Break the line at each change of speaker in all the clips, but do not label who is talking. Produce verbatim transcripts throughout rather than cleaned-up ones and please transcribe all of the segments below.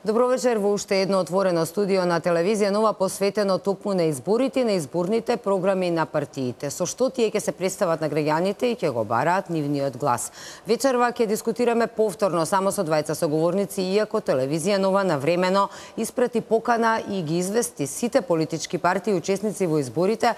Добро вечер во уште едно отворено студио на телевизија Нова, посветено токму на изборите, на изборните програми на партиите. Со што тие ќе се представат на граѓаните и ќе го бараат нивниот глас. Вечерва ќе дискутираме повторно само со двајца соговорници, иако телевизија Нова навремено испрати покана и ги извести сите политички партии учесници во изборите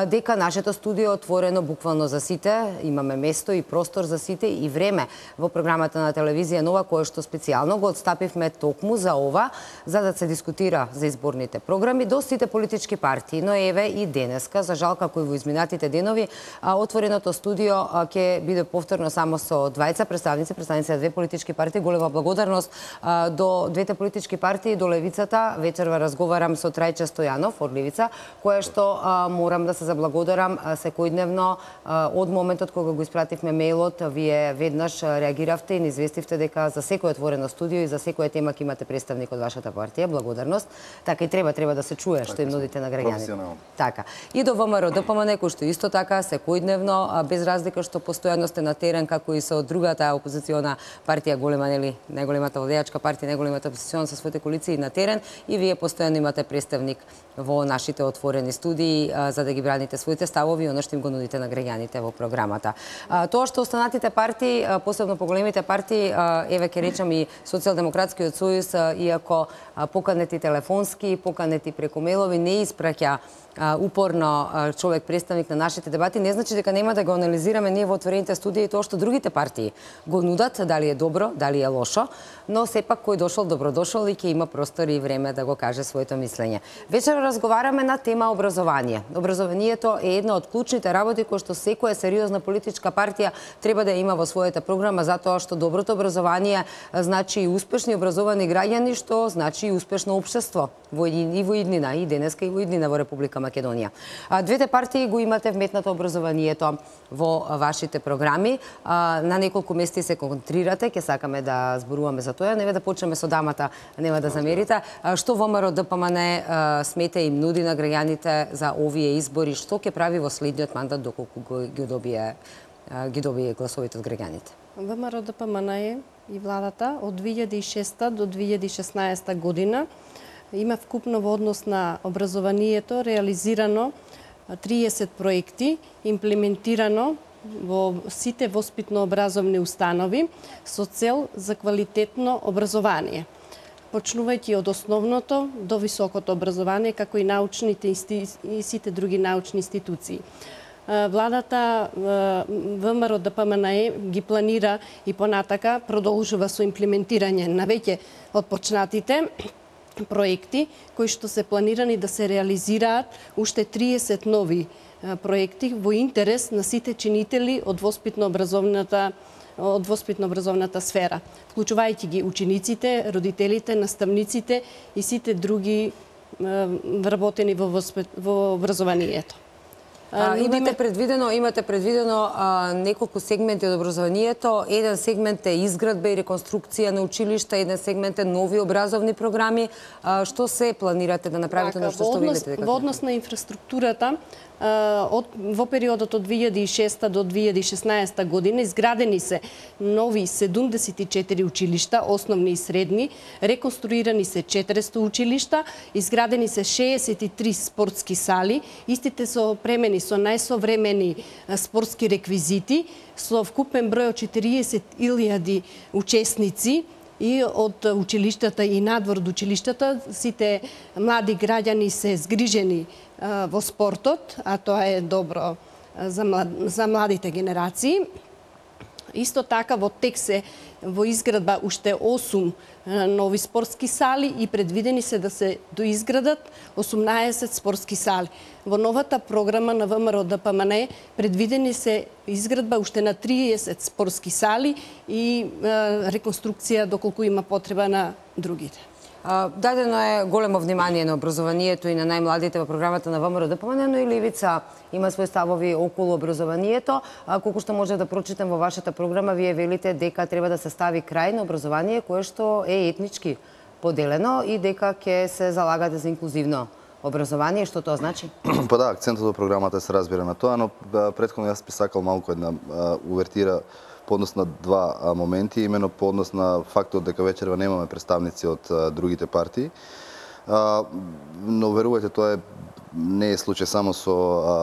дека нашето студио е отворено буквално за сите. Имаме место и простор за сите и време во програмата на телевизија Нова, кое што специјално го отстапивме токму за ова, за да се дискутира за изборните програми до сите политички партии. Но еве и денеска, за жал како и во изминатите денови, отвореното студио ќе биде повторно само со двајца представници, представници на две политички партии. Голема благодарност до двете политички партии, до Левицата. Вечерва разговарам со Трајче Стојанов од Левица, кое што морам да се заблагодарам секојдневно од моментот кога го испративме мејлот, вие веднаш реагиравте и ни известивте дека за секој отворено студио и за секоја тема ќе имате представник од вашата партија. Благодарност. Така и треба треба да се чуе што им нудите на граѓаните. Така. И до ВМРО ДПМН, кој што исто така секојдневно, без разлика што постојано сте на терен, како и со другата опозициона партија, голема, нели, најголемата владеачка партија, најголемата опозициона со своите коалиции на терен, и вие постојано имате представник во нашите отворени студии за да ги браните своите ставови и оно што им го нудите на граѓаните во програмата. Тоа што останатите партии, посебно поголемите партии, еве ќе речам и Социјалдемократскиот сојуз, иако поканети телефонски, поканети преку мејлови, не испраќа упорно човек представник на нашите дебати, не значи дека нема да го анализираме ние во отворените студии тоа што другите партии го нудат, дали е добро, дали е лошо, но сепак кој дошол добродошол и ќе има простор и време да го каже своето мислење. Вечер разговараме на тема образование. Образованието е една од клучните работи кои што секоја сериозна политичка партија треба да има во својата програма, затоа што доброто образование значи и успешни образовани граѓани, што значи и успешно општество во и во иднина, и денеска и во иднина во Република Македонија. Двете партии го имате вметнато образованието во вашите програми. На неколку мести се концентрирате, ќе сакаме да зборуваме за тоа. Неве да почнеме со дамата, нема да замерите. Што ВМРО ДПМН смета им нуди на граѓаните за овие избори, што ќе прави во следниот мандат доколку ги добие ги добие гласовите од граѓаните?
ВМРО ДПМН и владата од две илјади и шеста до две илјади и шеснаесета година има вкупно во однос на образованието реализирано триесет проекти, имплементирано во сите воспитно-образовни установи со цел за квалитетно образование, почнувајќи од основното до високото образование, како и научните и сите други научни институции. Владата ВМРО ДПМН ги планира и понатака продолжува со имплементирање на веќе отпочнатите проекти кои што се планирани да се реализираат уште триесет нови проекти во интерес на сите чинители од воспитно-образовната од воспитно-образовната сфера, вклучувајќи ги учениците, родителите, наставниците и сите други вработени во, во образованието.
А, имате предвидено, имате предвидено а, неколку сегменти од образованието. Еден сегмент е изградба и реконструкција на училишта, еден сегмент е нови образовни програми. А, што се планирате да направите, на што што видите дека?
Во однос на инфраструктурата, од, во периодот од две илјади и шеста до две илјади и шеснаесета година изградени се нови седумдесет и четири училишта, основни и средни, реконструирани се четиристо училишта, изградени се шеесет и три спортски сали, истите се опремени со најсовремени спортски реквизити, со вкупен број од четириесет илјади учесници, и од училиштата и надвор од училиштата сите млади граѓани се згрижени во спортот, а тоа е добро за, млад, за младите генерации. Исто така во тек се во изградба уште осум нови спортски сали и предвидени се да се доизградат осумнаесет спортски сали. Во новата програма на ВМРО ДПМН предвидени се изградба уште на триесет спортски сали и е, реконструкција доколку има потреба на другите.
Дадено е големо внимание на образованието и на најмладите во програмата на ВМРО ДПМН, но и Левица има свои ставови околу образованието. Колку што може да прочитам во вашата програма, вие велите дека треба да се стави крај на образование кое што е етнички поделено и дека ќе се залагате за инклузивно образование. Што тоа значи?
Па да, акцентот во програмата се разбира на тоа, но претходно јас би сакал малку една увертира по однос на два моменти, имено по однос на фактот дека вечерва немаме представници од другите партии. Но верувајте, тоа е не е случај само со а,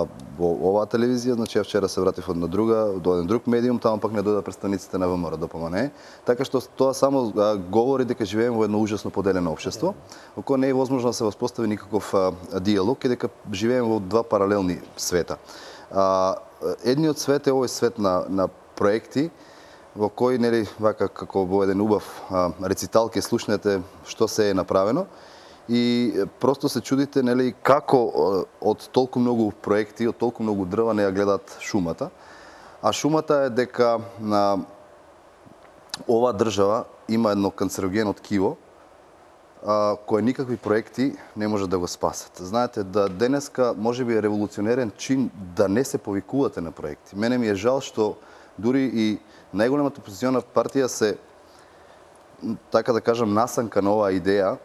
оваа телевизија, значи ја вчера се вратив од на друга, до еден друг медиум, таму пак не дојда представниците на ВМРО Д П М Н. Така што тоа само а, говори дека живееме во едно ужасно поделено општество, во кое не е возможно да се воспостави никаков а, диалог и дека живееме во два паралелни света. А, едниот свет е овој свет на на проекти во кој, нели, вака како во еден убав а, рецитал ќе слушнете што се е направено. И просто се чудите, нели, како од толку многу проекти, од толку многу дрва не ја гледат шумата. А шумата е дека на оваа држава има едно канцерогено ткиво, а, кое никакви проекти не може да го спасат. Знаете, да денеска може би е револуционерен чин да не се повикувате на проекти. Мене ми е жал што дури и најголемата опозициона партија се, така да кажам, насанка на оваа идеја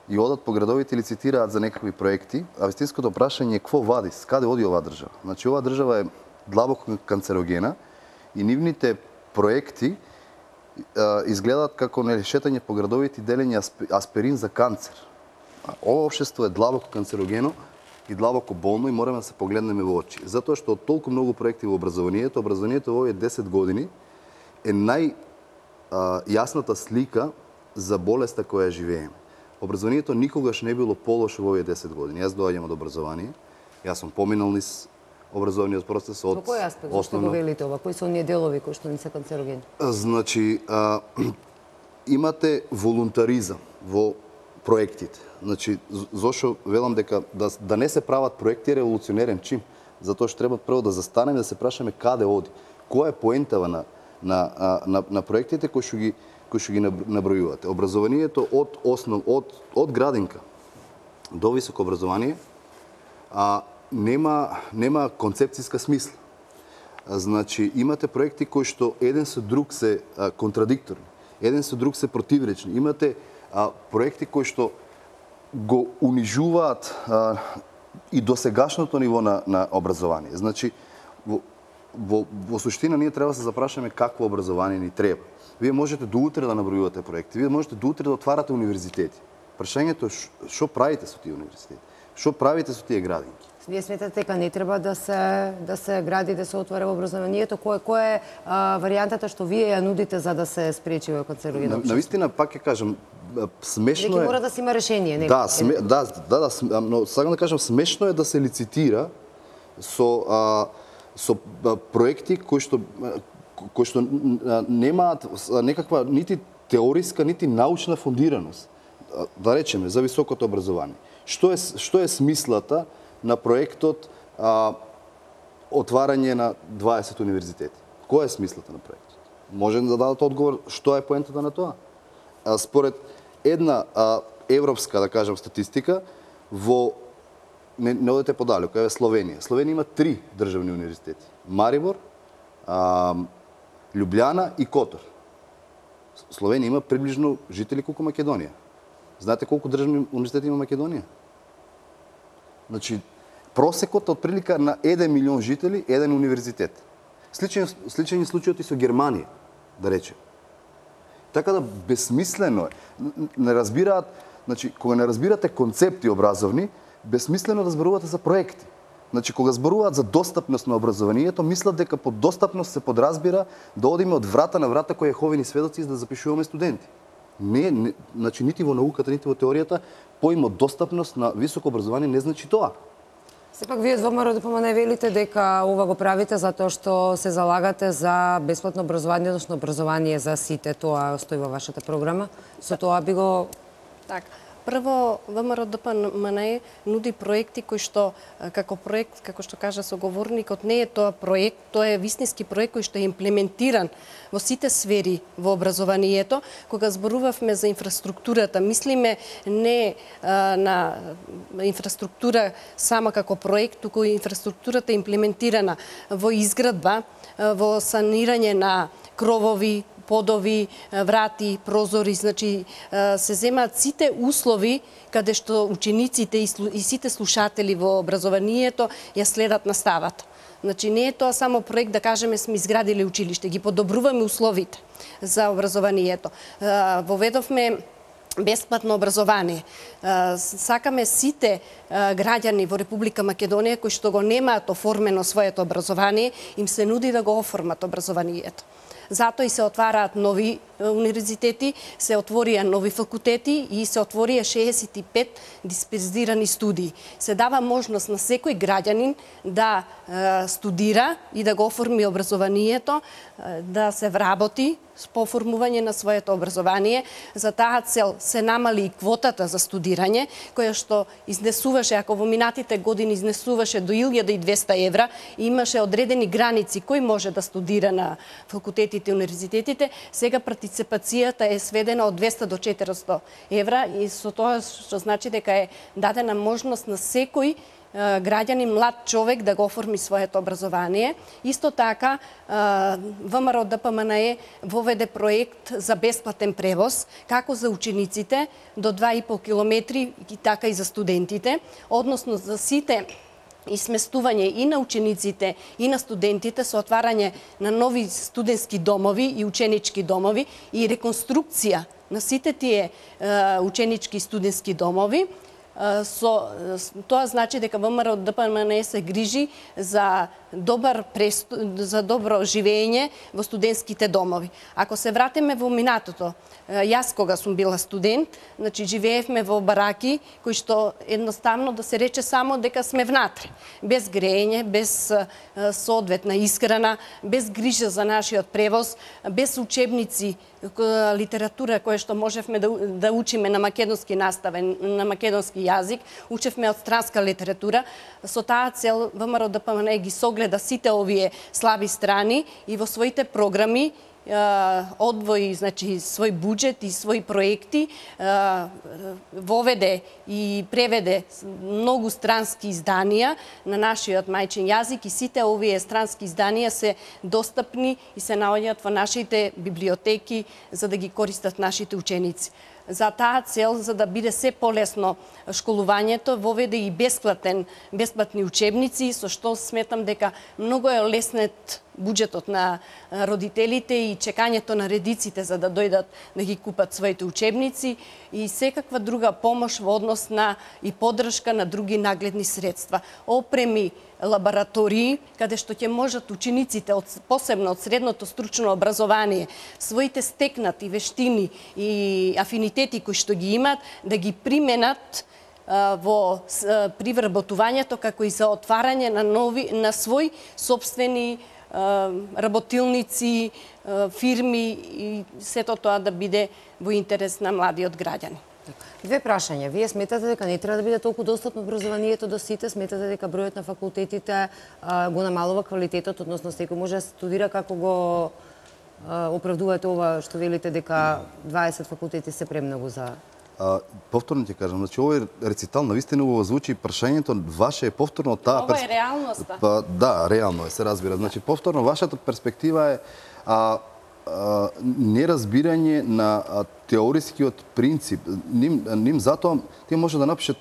и одат по градовите и лицитираат за некакви проекти, а вистинското прашање е какво вади, каде оди оваа држава? Значи, оваа држава е длабоко канцерогена и нивните проекти а, изгледаат како, нели, шетање по градовите и делење аспирин за канцер. А ова општество е длабоко канцерогено и длабоко болно и мораме да се погледнеме во очи. Затоа што од толку многу проекти во образованието, образованието во овие десет години е нај а, јасната слика за болеста која живееме. Образованието никогаш не било полошо во овие десет години. Јас доаѓам од образование, јас сум поминал низ образовниот процес од
основно. Во кој аспект што го велите ова? Кои се оние делови кои што не се канцерогени?
Значи, а, имате волунтаризам во проектите. Значи, зошто велам дека да, да не се прават проекти е револуционерен чин, затоа што треба прво да застанеме да се прашаме каде оди. Која е поентава на на на, на проектите кои што ги кои што ги набројувате. Образованието од основ од од градинка до високо образование а нема нема концепцијска смисла. Значи имате проекти кои што еден со друг се а, контрадикторни, еден со друг се противречни. Имате а, проекти кои што го унижуваат а, и досегашното ниво на на образование. Значи во во, во суштина ние треба да се запрашаме какво образование ни треба. Вие можете до утре да набројувате проекти, вие можете до утре да отварате универзитети. Прашањето е што правите со тие универзитети? Што правите со тие градинки?
Вие сметате дека не треба да се да се гради, да се отвара образованието? Кој кој е а, варијантата што вие ја нудите за да се спречи во канцерогено?
На вистина пак ќе кажам, смешно е.
Неки мора да се има решение, нека.
Да, сме, да, да, да, но сакам да кажам, смешно е да се лицитира со а, со а, проекти кои што кои што немаат некаква нити теориска, нити научна фундираност. Да речеме за високото образование. Што е што е смислата на проектот а, отварање на дваесет универзитети? Која е смислата на проектот? Може да дадат одговор што е поентата на тоа? А, според една а, европска, да кажам, статистика, во не, не одете подалеко, еве Словенија. Словенија има три државни универзитети. Марибор, а, Лјубљана и Котор. Словенија има приближно жители колку Македонија. Знаете колку државни универзитети има Македонија? Значи, просекот од прилика на еден милион жители, еден универзитет. Сличен, сличен случајот и со Германија, да речем. Така да безсмислено е. Не разбираат, значи, кога не разбирате концепти образовни, безсмислено да зборувате за проекти. Значи, кога зборуваат за достапност на образованието, мислат дека под достапност се подразбира да одиме од врата на врата кои Јеховини сведоци за да запишуваме студенти. Не, не, значи, нити во науката, нити во теоријата, поимот достапност на високо образование не значи тоа.
Сепак вие од ВМРО Д П М Н велите дека ова го правите затоа што се залагате за бесплатно образование, односно образование за сите. Тоа стои во вашата програма. Со тоа би го...
Так. Прво, ВМРО Д П М Н нуди проекти кои што, како проект, како што кажа соговорникот, не е тоа проект, тоа е вистински проект кој што е имплементиран во сите сфери во образованието. Кога зборувавме за инфраструктурата, мислиме не а, на инфраструктура само како проект, туку инфраструктурата е имплементирана во изградба, во санирање на кровови, подови, врати, прозори, значи се земаат сите услови каде што учениците и сите слушатели во образованието ја следат наставата. Значи не е тоа само проект да кажеме сме изградиле училиште, ги подобруваме условите за образованието. Воведовме бесплатно образование. Сакаме сите граѓани во Република Македонија кои што го немаат оформено своето образование, им се нуди да го оформат образованието. Затоа и се отвараат нови универзитети, се отворија нови факултети и се отворија шеесет и пет дисперзирани студии. Се дава можност на секој граѓанин да е, студира и да го оформи образованието, е, да се вработи по оформување на своето образование. За таа цел се намали и квотата за студирање, која што изнесуваше, ако во минатите години изнесуваше до илјада и двесте евра, и имаше одредени граници кој може да студира на факултетите и универзитетите, сега партиципацијата е сведена од двесте до четиристо евра и со тоа што значи дека е дадена можност на секој граѓанин, млад човек да го оформи своето образование. Исто така, ВМРО ДПМНЕ воведе проект за бесплатен превоз, како за учениците до два и пол километри, така и за студентите, односно за сите и сместување и на учениците и на студентите со отварање на нови студентски домови и ученички домови и реконструкција на сите тие ученички и студентски домови. Со тоа значи дека ВМРО ДПМНЕ се грижи за добар престу... за добро живење во студентските домови. Ако се вратиме во минатото, јас кога сум била студент, значи живеевме во бараки кои што едноставно да се рече само дека сме внатре, без грејење, без соодветна исхрана, без грижа за нашиот превоз, без учебници, литература која што можевме да, да учиме на македонски наставен, на македонски јазик, учевме од странска литература. Со таа цел ВМРО ДПМНЕ ги согледа сите овие слаби страни и во своите програми одвои, значи, свој буџет и своји проекти, воведе и преведе многу странски изданија на нашиот мајчин јазик и сите овие странски изданија се достапни и се наоѓаат во нашите библиотеки за да ги користат нашите ученици. За таа цел, за да биде се полесно школувањето, воведе и бесплатен, бесплатни учебници, со што сметам дека многу е леснет буџетот на родителите и чекањето на редиците за да дојдат да ги купат своите учебници и секаква друга помош во однос на и поддршка на други нагледни средства. Опреми, лаборатории, каде што ќе можат учениците, од, посебно од средното стручно образование, своите стекнати вештини и афинитети кои што ги имат, да ги применат во привработувањето, како и за отварање на нови, на свој собствени работилници, фирми и сето тоа да биде во интерес на младиот граѓани.
Две прашања. Вие сметате дека не треба да биде толку достапно образованието до сите? Сметате дека бројот на факултетите а, го намалува квалитетот, односно секој може да студира? Како го а, оправдувате ова што велите дека дваесет факултети се премногу за...
А, повторно ќе кажам, значи овој рецитал навистина убаво звучи, прашањето ваше е повторно таа
Ова е реалноста.
Па, да, реално е, се разбира. Значи повторно вашата перспектива е а, а, неразбирање на а, теорискиот принцип. Ним, ним затоа тие може да напишат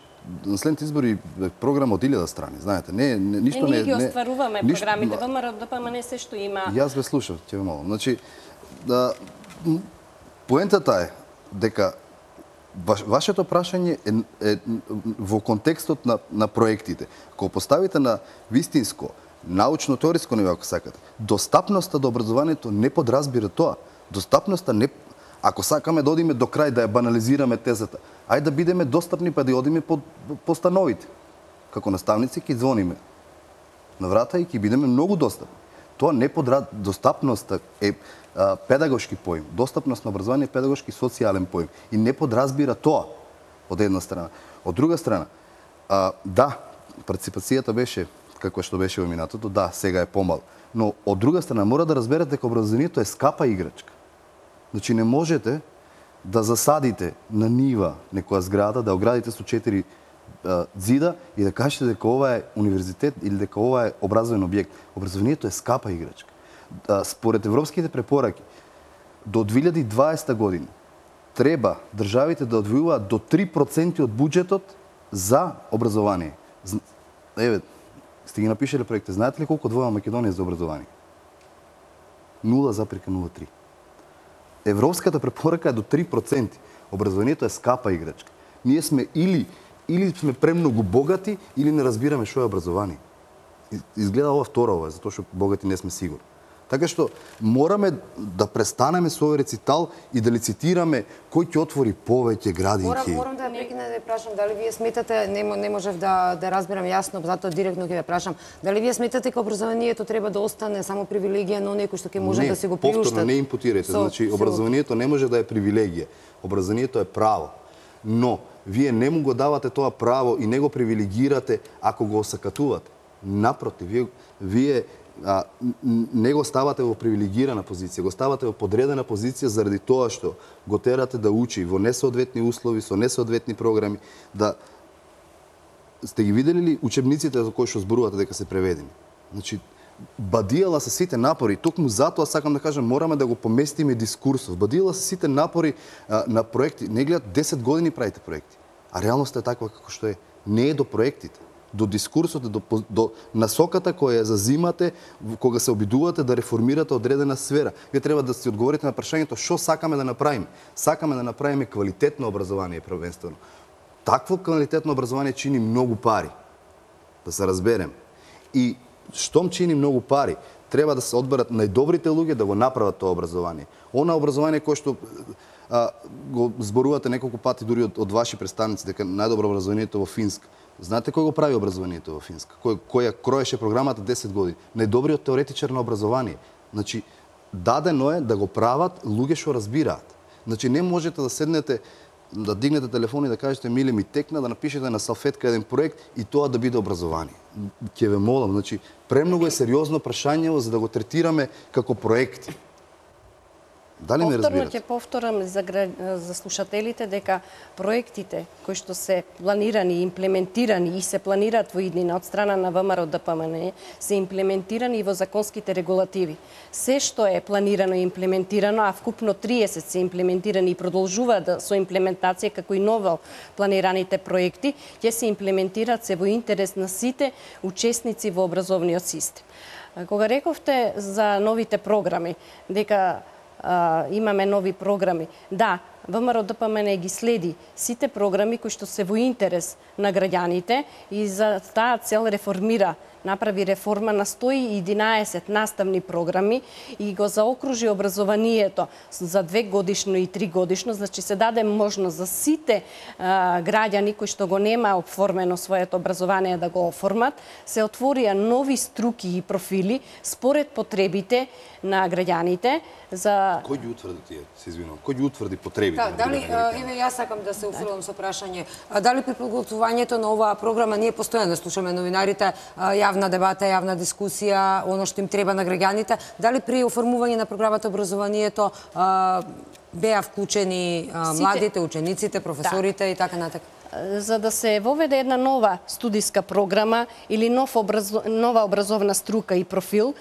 на следните избори програма од илјада страни, знаете, не, не ништо не...
Не, ние ги остваруваме
ништо,
програмите, ВМРО ДПМНЕ се што има...
Јас ве слушав, ќе ве молам. Значи, да, поентата е дека вашето прашање е, е во контекстот на, на проектите. Кога поставите на вистинско, научно-теориско ниво, ако сакате, достапноста до образованието не подразбира тоа. Достапноста не... Ако сакаме да одиме до крај, да ја банализираме тезата, ајде да бидеме достапни, па да одиме по, по становите. Како наставници ќе звониме на врата и ќе бидеме многу достапни. Тоа не подра... Достапноста е а, педагошки поим. Достапност на образование е педагошки социјален поим. И не подразбира тоа, од една страна. Од друга страна, а, да, партиципацијата беше како што беше во минатото, да, сега е помал. Но од друга страна, мора да разберете дека образованието е скапа играчка. Значи не можете да засадите на нива некоја зграда, да оградите со четири зида и да кажете дека ова е универзитет или дека ова е образовен објект. Образованието е скапа играчка. Според европските препораки, до две илјади и дваесета година треба државите да одвојуваат до три проценти од буџетот за образование. Еве, Сте ги напишале проекти. Знаете ли колку одвојува Македонија за образование? нула запирка нула три. Европската препорака е до три проценти. Образованието е скапа играчка. Ние сме или или сме премногу богати, или не разбираме што е образование. Изгледа ова второво, затоа што богати не сме сигурни. Така што мораме да престанеме со овој рецитал и да лицитираме кој ќе отвори повеќе градинки.
Морам, морам да ја прекинам да ја прашам дали вие сметате, не, не можев да, да разберам јасно, затоа директно ќе ве прашам, дали вие сметате дека образованието треба да остане само привилегија на оние кои што ќе може
не,
да си го приуштат?
Не, повторно не импутирате. Со, значи, образованието не може да е привилегија. Образованието е право. Но, вие не му го давате тоа право и не го привилегирате ако го осакатувате. Напротив, вие, вие а, не го ставате во привилегирана позиција, го ставате во подредена позиција заради тоа што го терате да учи во несоодветни услови, со несоодветни програми, да сте ги видели ли учебниците за кои што зборувате дека се преведени? Значи, бадијала се сите напори, токму затоа сакам да кажам, мораме да го поместиме дискурсов. Бадијала се сите напори а, на проекти. Не гледат десет години правите проекти, а реалноста е таква како што е. Не е до проектите, до дискурсот, до, до насоката која ја зазимате кога се обидувате да реформирате одредена сфера. Вие треба да си одговорите на прашањето што сакаме да направиме. Сакаме да направиме квалитетно образование првенствено. Такво квалитетно образование чини многу пари. Да се разберем. И штом чини многу пари, треба да се одберат најдобрите луѓе да го направат тоа образование. Она образование кое што а, го зборувате неколку пати дури од, од ваши представници дека најдобро образованието во Финска. Знаете кој го прави образованието во Финска? Кој која кроеше програмата десет години? Најдобриот теоретичар на образование. Значи дадено е да го прават луѓе што разбираат. Значи не можете да седнете да дигнете телефон и да кажете миле ми текна да напишете на салфетка еден проект и тоа да биде образование. Ќе ве молам, значи премногу е сериозно прашање за да го третираме како проекти. Дали ме
Повторно
разбирате?
ќе повторам за, за слушателите дека проектите кои што се планирани, имплементирани и се планираат во иднина од страна на ВМРО Д П М Н се имплементирани и во законските регулативи. Се што е планирано и имплементирано, а вкупно триесет се имплементирани и продолжуваат да, со имплементација како и ново планираните проекти, ќе се имплементираат се во интерес на сите учесници во образовниот систем. Кога рековте за новите програми, дека Uh, имаме нови програми. Да, ВМРО Д П М Н ги следи сите програми кои што се во интерес на граѓаните и за таа цел реформира, направи реформа на сто и единаесет наставни програми и го заокружи образованието за две годишно и три годишно, значи се даде можност за сите а, граѓани кои што го нема оформено своето образование да го оформат, се отворија нови струки и профили според потребите на граѓаните за
Кој ги утврди тие? Се извинувам. Кој ги утврди потребите?
Да, дали еве јас сакам да се уфрлам со прашање. Дали при подготвувањето на оваа програма ние постојано слушаме новинарите, јавна дебата, јавна дискусија, оно што им треба на граѓаните, дали при оформување на програмата образованието беа вклучени младите, учениците, професорите и така натака?
За да се воведе една нова студиска програма или нов образ... нова образовна струка и профил,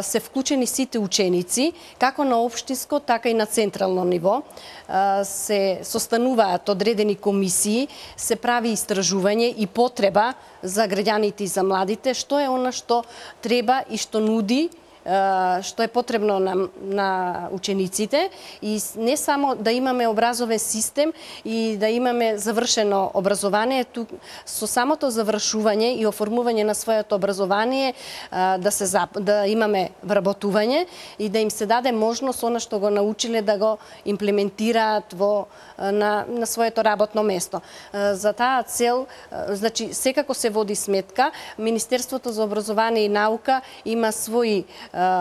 се вклучени сите ученици, како на општинско, така и на централно ниво. Се состануваат одредени комисии, се прави истражување и потреба за граѓаните и за младите, што е она што треба и што нуди, што е потребно на, на учениците и не само да имаме образовен систем и да имаме завршено образование, тук со самото завршување и оформување на своето образование да се да имаме вработување и да им се даде можност она што го научиле да го имплементираат во на, на своето работно место. За таа цел, значи секако се води сметка, Министерството за образование и наука има своји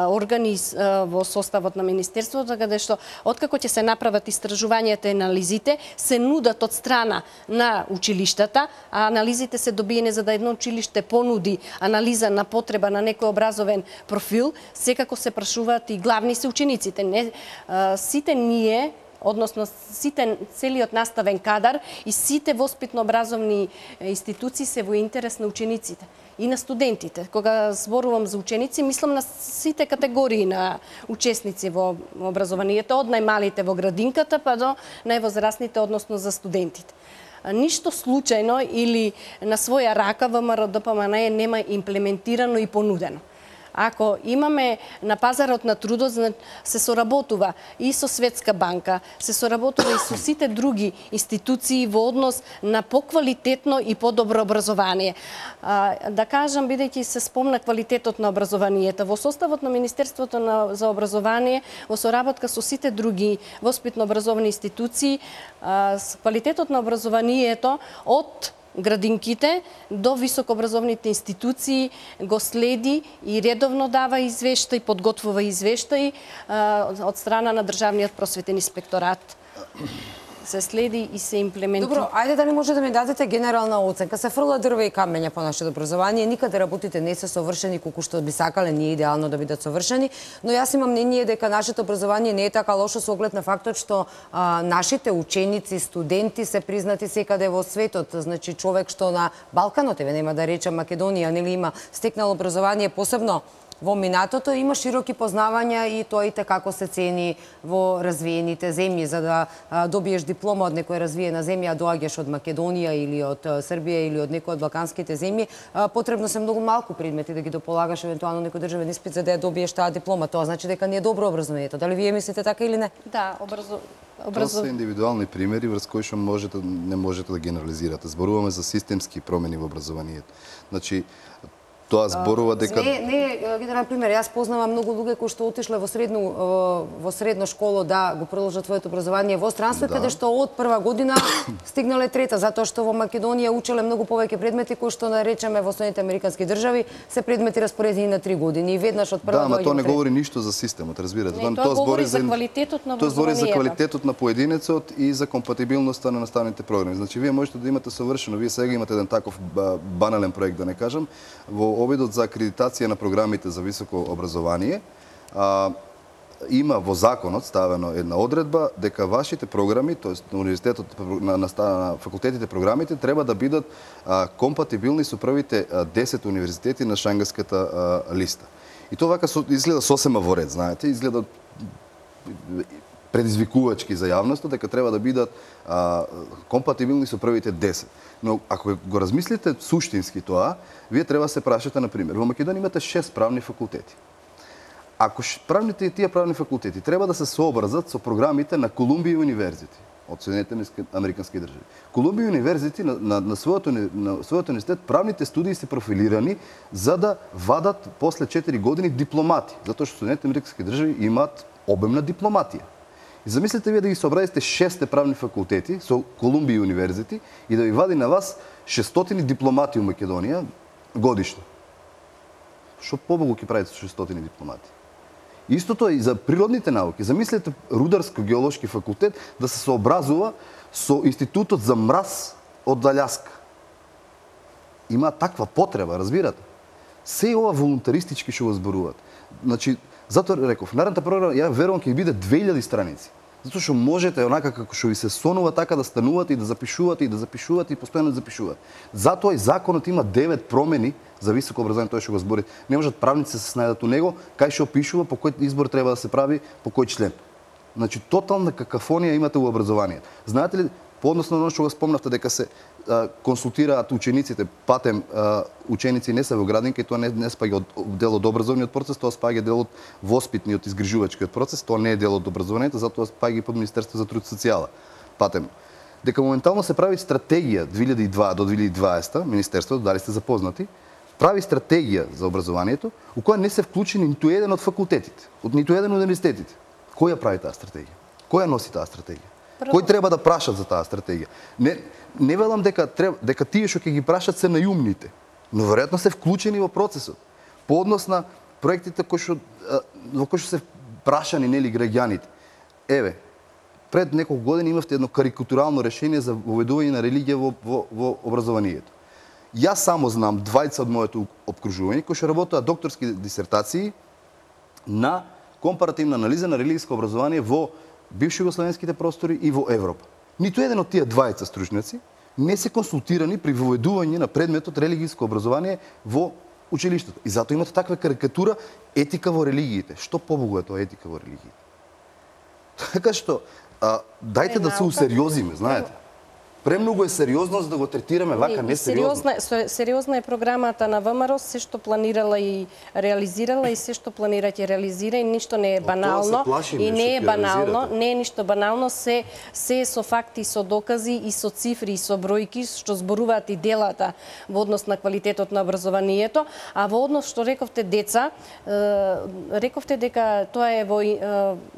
органи во составот на Министерството, каде што откако ќе се направат истражувањата и анализите, се нудат од страна на училиштата, а анализите се добиени за да едно училиште понуди анализа на потреба на некој образовен профил, секако се прашуваат и главни се учениците. Не, сите ние односно сите целиот наставен кадар и сите воспитно-образовни институции се во интерес на учениците и на студентите. Кога зборувам за ученици, мислам на сите категории на учесници во образованието, од најмалите во градинката па до највозрастните, односно за студентите. ништо случајно или на своја рака ВМРО-ДПМНЕ нема имплементирано и понудено. Ако имаме на пазарот на трудот, се соработува и со Светска банка, се соработува и со сите други институции во однос на поквалитетно и подобро образование. А, да кажам, бидејќи се спомна квалитетот на образованието, во составот на Министерството на, за образование, во соработка со сите други воспитно-образовни институции, а, квалитетот на образованието од градинките до високообразовните институции го следи и редовно дава извештај, подготвува извештај од страна на Државниот просветен инспекторат. Се следи и се имплементира.
Добро, ајде да не може да ми дадете генерална оценка. Се фрла дрве и камења по нашето образование. Никаде работите не се совршени колку што би сакале, не е идеално да бидат совршени, но јас имам мнение дека нашето образование не е така лошо со оглед на фактот што а, нашите ученици, студенти се признати секаде во светот. Значи човек што на Балканот, еве нема да речам Македонија, нели има стекнало образование, посебно во минатото, има широки познавања и тоа и како се цени во развиените земји. За да а, добиеш диплома од некоја развиена земја, доаѓаш од Македонија или од Србија или од некој од балканските земји, а, потребно се многу малку предмети да ги дополагаш евентуално некој државен испит за да ја добиеш таа диплома. Тоа значи дека не е добро образованието. Дали вие мислите така или не?
Да, образо...
Образов... Тоа се индивидуални примери врз кои што можете, не можете да генерализирате. Зборуваме за системски промени во образованието. Значи, тоа зборува дека
Не, не, генерален пример, јас познавам многу луѓе кои што отишле во средно во средно школо да го продолжат своето образование во странство, да. Каде што од прва година стигнале трета, затоа што во Македонија учеле многу повеќе предмети кои што наречеме во Соединетите американски држави се предмети распоредени на три години и веднаш од прва
година. Да, ама тоа не говори ништо за системот, разбирате.
Не, тоа, тоа говори за квалитетот на образованието. Тоа
збори за квалитетот на поединецот и за компатибилноста на наставните програми. Значи вие можете да имате совршено, вие сега имате еден таков банален проект, да не кажам, во обидот за акредитација на програмите за високо образование, а, има во законот ставено една одредба дека вашите програми, тоест на универзитетот, на, на, на факултетите програмите треба да бидат а, компатибилни со првите а, десет универзитети на Шангайската а, листа. И тоа вака со, изгледа сосема во ред, знаете, изгледа предизвикувачки за јавноста дека треба да бидат а, компатибилни со првите десет. Но ако го размислите суштински тоа, вие треба да се прашате, на пример, во Македонија имате шест правни факултети. Ако правните тие правни факултети треба да се сообразат со програмите на Колумбија универзити од Соединетите американски држави. Колумбија универзити на, на, на својот на својот универзитет правните студии се профилирани за да вадат после четири години дипломати, затоа што Соединетите американски држави имаат обемна дипломатија. И замислете вие да ги сообразите шесте правни факултети со Колумбија универзити и да ви вади на вас шестстотини дипломати во Македонија годишно. Што побогу ќе правите со шестстотини дипломати? Истото е и за природните науки. Замислете Рударско-геолошки факултет да се сообразува со Институтот за мраз од Алјаска. Има таква потреба, разбирате? Се ова волунтаристички што го зборуваат. Значи, затоа реков, наредната програма, ја верувам ќе биде две илјади страници. Затоа што можете онака како што ви се сонува така да станувате и да запишувате и да запишувате и постојано да запишувате. Затоа и законот има девет промени за високо образование, тоа што го збори. Не можат правници да се снајдат у него, кај што опишува по кој избор треба да се прави, по кој член. Значи тотална какафонија имате во образованието. Знаете ли, по однос на оно што го спомнавте дека се а, консултираат учениците, патем а, ученици не се во градинка и тоа не, не спаѓа од дел од образовниот процес, тоа спаѓа дел од воспитниот изгрижувачкиот процес, тоа не е дел од образованието, затоа спаѓа и под Министерството за труд и социјала. Патем дека моментално се прави стратегија две илјади и дваесета до две илјади и дваесета, Министерството, дали сте запознати, прави стратегија за образованието, у која не се вклучени ниту еден од факултетите, од ниту еден од универзитетите. Кој ја прави таа стратегија? Кој ја носи таа стратегија? Прво... Кој треба да прашат за таа стратегија? Не, не велам дека треба, дека тие што ќе ги прашат се најумните, но веројатно се вклучени во процесот. По однос на проектите кои што во кои што се прашани нели граѓаните. Еве, пред неколку години имавте едно карикатурално решение за воведување на религија во, во, во образованието. Јас само знам двајца од моето опкружување кои што работеа докторски дисертации на компаративна анализа на религијско образование во бивши југословенските простори и во Европа. Ниту еден од тие двајца стручњаци не се консултирани при воведување на предметот религијско образование во училиштето. И затоа имате таква карикатура етика во религиите. Што побогу е тоа етика во религиите? Така што, а, дајте да се усериозиме, знаете. премногу е сериозно за да го третираме вака несериозно.
Сериозна, сериозна е програмата на ВМРО, се што планирала и реализирала и се што планира ќе реализира и ништо не е банално и не е банално, не е ништо банално, се се со факти, со докази и со цифри и со бројки што зборуваат и делата во однос на квалитетот на образованието, а во однос што рековте деца, рековте дека тоа е во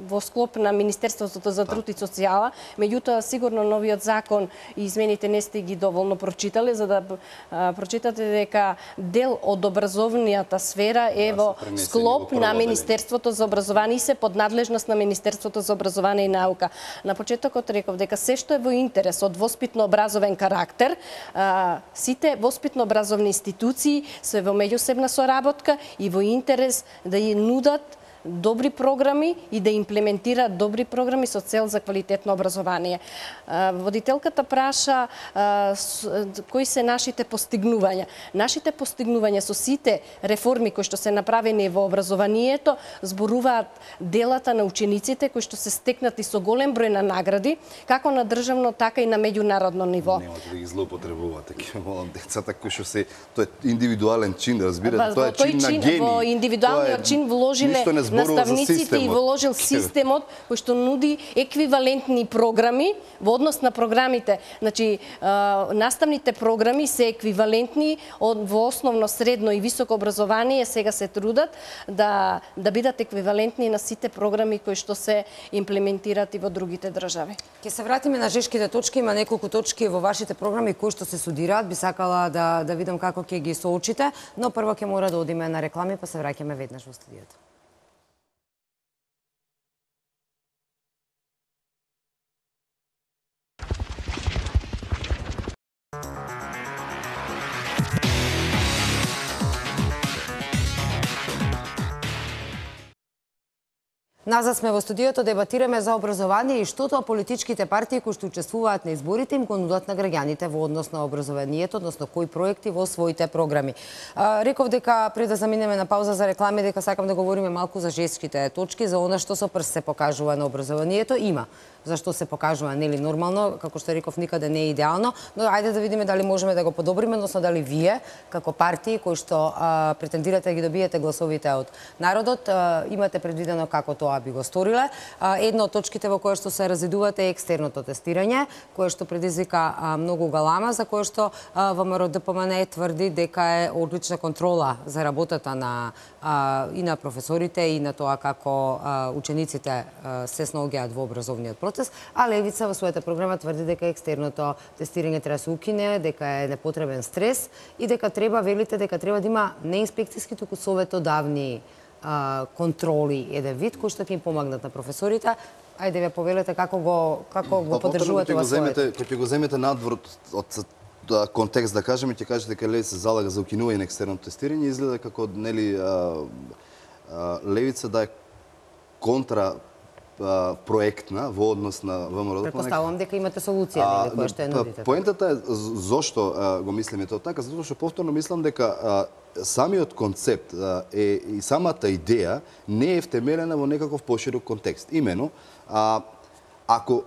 во склоп на Министерството за труд и социјала, меѓутоа сигурно новиот закон и измените не сте ги доволно прочитале за да а, прочитате дека дел од образовнијата сфера е во склоп на Министерството за образование и се под надлежност на Министерството за образование и наука. На почетокот реков дека се што е во интерес од воспитно-образовен карактер, а, сите воспитно-образовни институции се во меѓусебна соработка и во интерес да ја нудат добри програми и да имплементираат добри програми со цел за квалитетно образование. Водителката праша кои се нашите постигнувања. Нашите постигнувања со сите реформи кои што се направени во образованието зборуваат делата на учениците кои што се стекнати со голем број на награди, како на државно, така и на меѓународно ниво.
Немате да ги злоупотребувате, ќе молам децата кои што се тоа е индивидуален чин, разбирате, тоа е чин на гени.
Во индивидуалниот чин вложиле наставниците и вложил системот кој што нуди еквивалентни програми во однос на програмите. Значи, наставните програми се еквивалентни во основно, средно и високо образование, сега се трудат да да бидат еквивалентни на сите програми кои што се имплементираат и во другите држави.
Ќе се вратиме на жешките точки, има неколку точки во вашите програми кои што се судираат, би сакала да да видам како ќе ги соочите, но прво ќе мора да одиме на реклами, па се враќаме веднаш во студиото. Назад сме во студиото, дебатираме за образование и што тоа политичките партии кои што учествуваат на изборите им го нудат на граѓаните во однос на образованието, односно кои проекти во своите програми. А, реков дека пред да заминеме на пауза за реклами дека сакам да говориме малку за жеските точки, за она што со прст се покажува на образованието, има. Зашто се покажува нели нормално, како што реков, никаде не е идеално, но ајде да видиме дали можеме да го подобриме, односно дали вие како партии кои што а, претендирате да ги добиете гласовите од народот, а, имате предвидено како тоа би го сториле. А, една од точките во која што се разидувате е екстерното тестирање, кое што предизвика а, многу галама, за кое што а, ВМРО Д П М Н тврди дека е одлична контрола за работата на а, и на професорите и на тоа како а, учениците а, се снаоѓаат во образовниот процес, а Левица во својата програма тврди дека екстерното тестирање треба да се укине, дека е непотребен стрес и дека треба, велите, дека треба да има не инспекцијски, туку советодавни а, контроли, еден вид кој што ќе им помагнат на професорите. Ајде ве повелете како го како го поддржувате во своето.
Кога ќе го земете надвор од контекст да кажеме, ќе кажете дека Левица се залага за укинување на екстерното тестирање, изгледа како нели а, а, Левица да е контра проектна во однос на ВМРО.
Претпоставувам дека имате солуција нели која што е нудите.
Поентата е зошто а, го мислиме тоа така, затоа што повторно мислам дека а, самиот концепт а, е и самата идеја не е втемелена во некаков поширок контекст. Имено, а, ако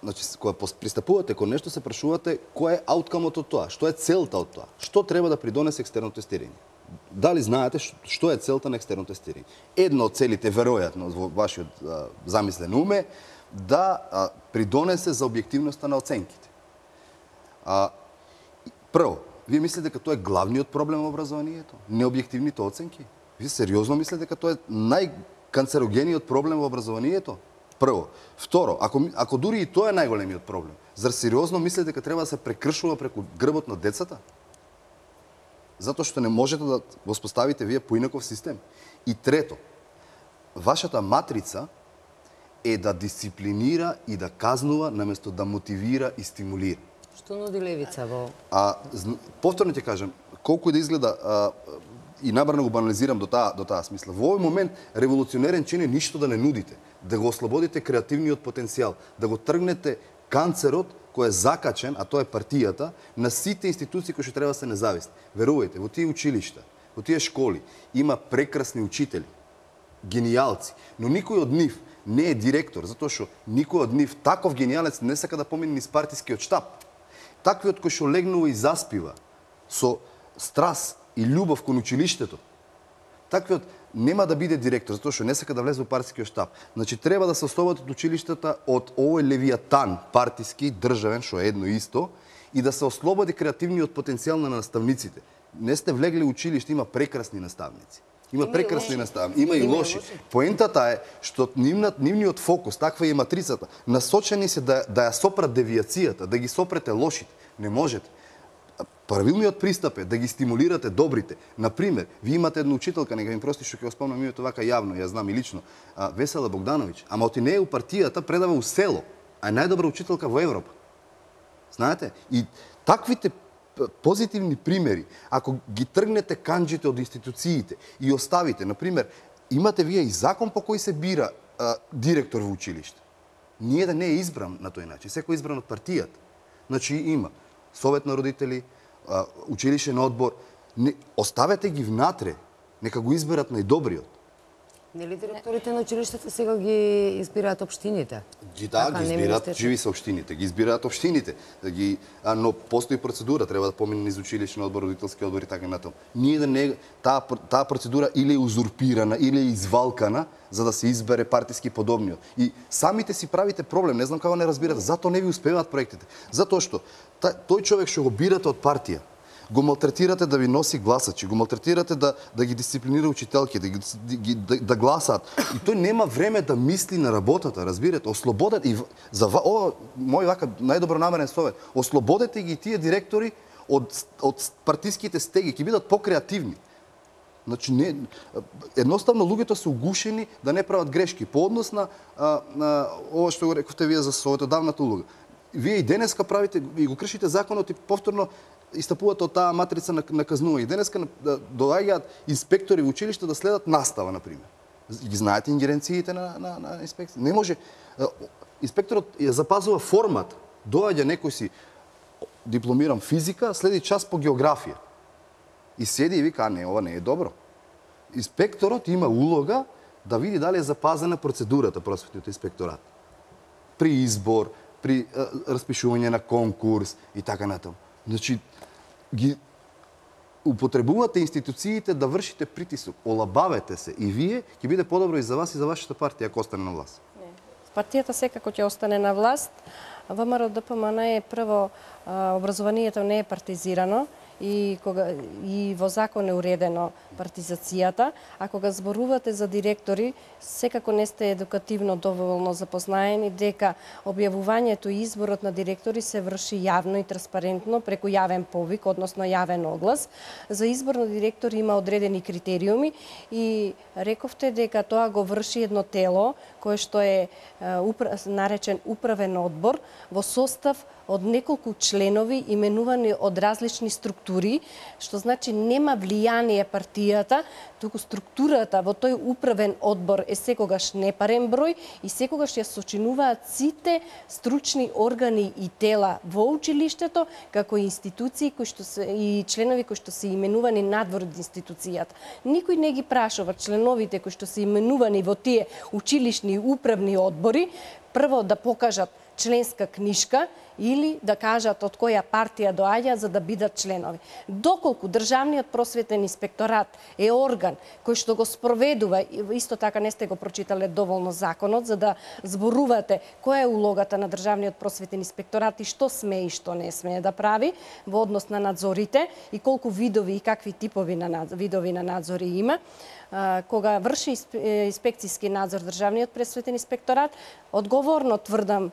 значи кога пристапувате кон нешто се прашувате кој е ауткамот од тоа, што е целта од тоа, што треба да придонесе екстерно тестирање. Дали знаете што е целта на екстерно тестирање? Една од целите, веројатно, во вашиот а, замислен ум е да а, придонесе за објективноста на оценките. А, прво, вие мислите дека тоа е главниот проблем во образованието? Необјективните оценки? Вие сериозно мислите дека тоа е најканцерогениот проблем во образованието? Прво. Второ, ако, ако дури и тоа е најголемиот проблем, зар сериозно мислите дека треба да се прекршува преку грбот на децата? Затоа што не можете да воспоставите вие поинаков систем. И трето, вашата матрица е да дисциплинира и да казнува наместо да мотивира и стимулира.
Што нуди Левица во?
А повторно ќе кажам, колку и да изгледа а, и набрано го банализирам до таа до таа смисла. Во овој момент револуционерен чин е ништо да не нудите, да го ослободите креативниот потенцијал, да го тргнете канцерот кој е закачен, а тоа е партијата, на сите институции кои што треба да се независни. Верувајте, во тие училишта, во тие школи има прекрасни учители, генијалци, но никој од нив не е директор, затоа што никој од нив таков генијалец не сака да помине низ партискиот штаб. таквиот кој што легнува и заспива со страст и љубов кон училиштето, таквиот нема да биде директор, затоа што не сака да влезе во партискиот штаб. Значи треба да се ослободат училиштата од овој левијатан партиски, државен, што е едно исто, и да се ослободи креативниот потенцијал на наставниците. Не сте влегли в училиште, има прекрасни наставници. Има, има прекрасни наставници, има, има и лоши. лоши. Поентата е што нивниот, нивниот фокус, таква е матрицата, насочени се да, да ја сопрат девијацијата, да ги сопрете лошите. Не можете. Правилниот пристап е да ги стимулирате добрите. Например, ви имате една учителка, нека ми прости што ќе го спомнам името вака јавно, ја знам и лично, а, Весела Богдановиќ, ама оти не е у партијата, предава у село, а е најдобра учителка во Европа. Знаете? И таквите позитивни примери, ако ги тргнете канџите од институциите и оставите, например, имате вие и закон по кој се бира а, директор во училиште. Ние да не е избран на тој начин, секој е избран од партијата. Значи има совет на родители, а, училишен одбор, не, оставете ги внатре, нека го изберат најдобриот.
Нели директорите на училиштата сега ги избираат општините?
Ги да, ги избираат, живи се општините, ги избираат општините. Да ги, а, но постои процедура, треба да помине низ училишен одбор, родителски одбор и така натаму. Ние да не таа таа процедура или е узурпирана, или е извалкана за да се избере партиски подобниот. И самите си правите проблем, не знам како не разбирате, затоа не ви успеваат проектите. Затоа што тој човек што го бирате од партија, го малтретирате да ви носи гласачи, го малтретирате да, да ги дисциплинира учителки, да, ги, да, да гласаат. И тој нема време да мисли на работата, разбирате? Ослободете, и за ова, мој вака најдобро намерен совет, ослободете ги тие директори од, од партиските стеги, ќе бидат покреативни. Значи, не, едноставно луѓето се угушени да не прават грешки. По однос на, а, на ова што го рековте вие за советодавната улога. Вие и денеска правите, и го кршите законот и повторно истапувате од таа матрица на, на казнување. Денеска да, доаѓаат инспектори во училиште да следат настава, например. Ги знаете ингеренциите на, на, на инспекција? Не може. Инспекторот ја запазува формата. Доаѓа некој си дипломирам физика, следи час по географија. И седи и вика, а не, ова не е добро. Инспекторот има улога да види дали е запазена процедурата просветниот инспекторат. При избор, при а, распишување на конкурс и така натаму. Значи, ги употребувате институциите да вршите притисок. Олабавете се и вие, ќе биде подобро и за вас и за вашата партија ако остане на власт.
Партијата секако ќе остане на власт. ВМРО Д П М Н е прво, образованието не е партизирано и кога и во закон е уредено партизацијата, а кога зборувате за директори, секако не сте едукативно доволно запознаени дека објавувањето и изборот на директори се врши јавно и транспарентно преку јавен повик, односно јавен оглас. За избор на директори има одредени критериуми и рековте дека тоа го врши едно тело кое што е наречен управен одбор во состав од неколку членови именувани од различни структури, што значи нема влијание партијата, туку структурата во тој управен одбор е секогаш непарен број и секогаш ја сочинуваат сите стручни органи и тела во училиштето, како и институции кои што се и членови кои што се именувани надвор од институцијата. Никој не ги прашува членовите кои што се именувани во тие училишни управни одбори прво да покажат членска книшка или да кажат од која партија доаѓа за да бидат членови. Доколку Државниот просветен инспекторат е орган кој што го спроведува, исто така не сте го прочитале доволно законот за да зборувате која е улогата на Државниот просветен инспекторат и што смее и што не смее да прави во однос на надзорите и колку видови и какви типови на видови на надзори има. Кога врши инспекцијски надзор Државниот просветен инспекторат, одговорно тврдам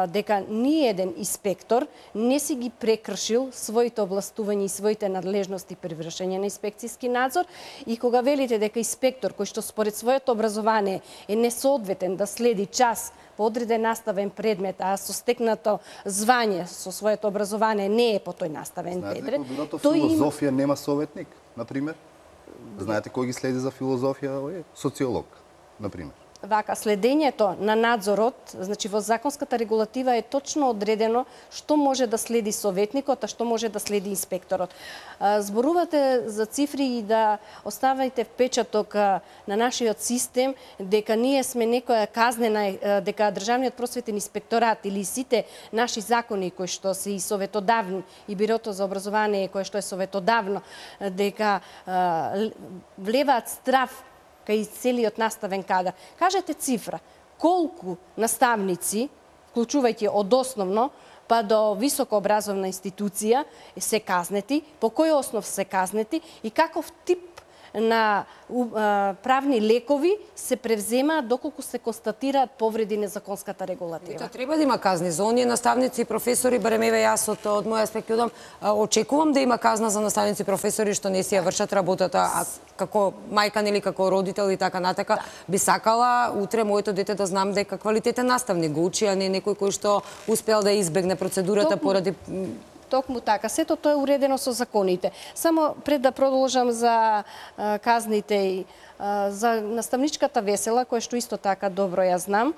дека ни еден инспектор не си ги прекршил своите областувања и своите надлежности при вршење на инспекцијски надзор и кога велите дека инспектор кој што според своето образование е несоодветен да следи час по одреден наставен предмет, а со стекнато звање со своето образование не е по тој наставен предмет.
Знаете, тој филозофија има... нема советник, например? Знаете кој ги следи за филозофија? Социолог, например.
Вака, следењето на надзорот, значи во законската регулатива е точно одредено што може да следи советникот, а што може да следи инспекторот. Зборувате за цифри и да оставајте впечаток на нашиот систем дека ние сме некоја казнена, дека Државниот просветен инспекторат или сите наши закони кои што се и советодавни и Бирото за образование кое што е советодавно, дека влеваат страв кај целиот наставен кадар. Кажете цифра, колку наставници, вклучувајќи од основно па до високообразовна институција, се казнети, по кој основ се казнети и каков тип на правни лекови се превземаат доколку се констатираат повреди на законската регулатива.
Тоа треба да има казни за оние наставници и професори, барем еве јас од, од мој аспект јудам, очекувам да има казна за наставници и професори што не си ја вршат работата, а како мајка или како родител и така натака, да. Би сакала утре моето дете да знам дека квалитетен наставник го учи, а не некој кој што успел да избегне процедурата Токму... поради
Токму така, сето тоа е уредено со законите. Само пред да продолжам за а, казните и а, за наставничката Весела, која што исто така добро ја знам,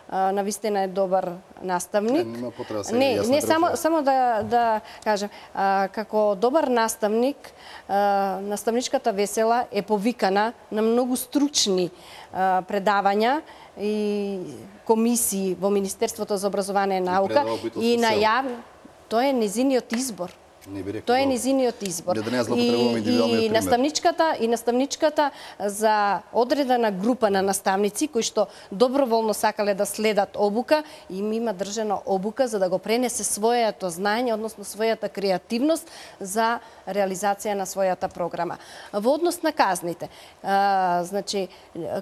а, навистина е добар наставник.
Не, нема потреба се
не, не само само да да кажам, а, како добар наставник, а, наставничката Весела е повикана на многу стручни а, предавања и комисии во Министерството за образование и наука и на јавно. Тоа е незиниот избор. Тоа е незиниот избор.
Да не
и, и наставничката и наставничката за одредена група на наставници кои што доброволно сакале да следат обука, им има држана обука за да го пренесе своето знаење, односно својата креативност за реализација на својата програма. Во однос на казните, а, значи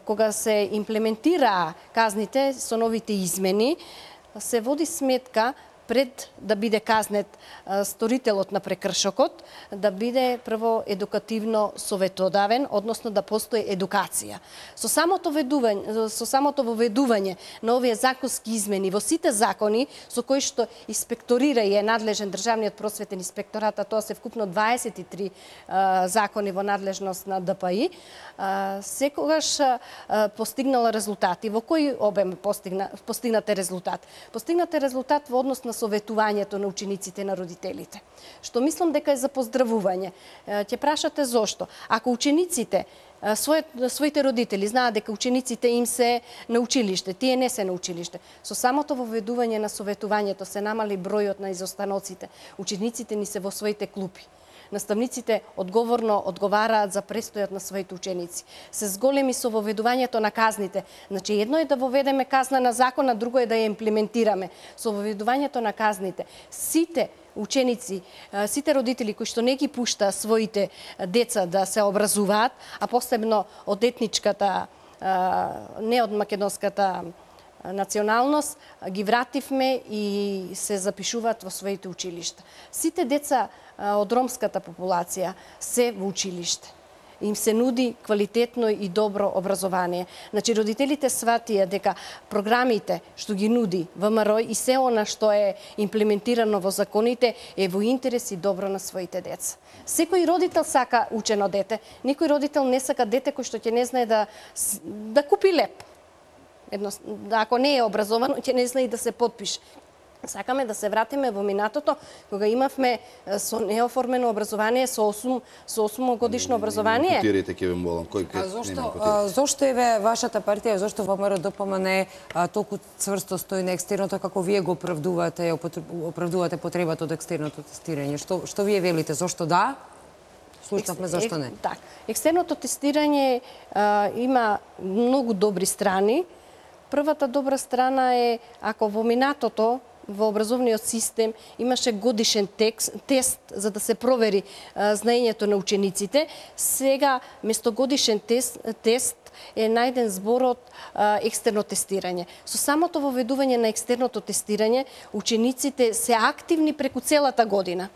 кога се имплементираа казните со новите измени, се води сметка пред да биде казнет а, сторителот на прекршокот, да биде прво едукативно советодавен, односно да постои едукација. Со самото ведување, со самото воведување на овие законски измени во сите закони со кои што инспекторира и е надлежен Државниот просветен инспекторат, а тоа се вкупно дваесет и три а, закони во надлежност на Д П И, а, секогаш а, постигнала резултати. Во кој обем постигна, постигнате резултат? Постигнате резултат во однос на советувањето на учениците и на родителите. Што мислам дека е за поздравување. Ќе прашате зошто. Ако учениците, своите родители знаат дека учениците им се на училиште, тие не се на училиште, со самото воведување на советувањето се намали бројот на изостаноците. Учениците ни се во своите клупи. Наставниците одговорно одговараат за престојот на своите ученици. Се зголеми со воведувањето на казните. Значи, едно е да воведеме казна на закон, а друго е да ја имплементираме. Со воведувањето на казните, сите ученици, сите родители кои што не ги пушта своите деца да се образуваат, а посебно од етничката, не од македонската националност, ги вративме и се запишуваат во своите училишта. Сите деца од ромската популација се во училиште. Им се нуди квалитетно и добро образование. Значи, родителите сватија дека програмите што ги нуди В М Р и се она што е имплементирано во законите е во интерес и добро на своите деца. Секој родител сака учено дете. Никој родител не сака дете кој што ќе не знае да, да купи леп. Едно, ако не е образовано, ќе не знае и да се подпише. Сакаме да се вратиме во минатото, кога имавме со неоформено образование, со осум, со осумгодишно образование.
Котирите ќе ве молам, кој
а зошто, а, зошто еве вашата партија, зошто Во М Р Д П М Н толку цврсто стои на екстерното, како вие го оправдувате, оправдувате потребата од екстерното тестирање? Што што вие велите, зошто да? Слушнавме зошто не.
Так, екстерното тестирање а, има многу добри страни. Првата добра страна е ако во минатото во образовниот систем имаше годишен текст, тест за да се провери а, знаењето на учениците. Сега, место годишен тест, тест е најден зборот а, екстерно тестирање. Со самото воведување на екстерното тестирање, учениците се активни преку целата година.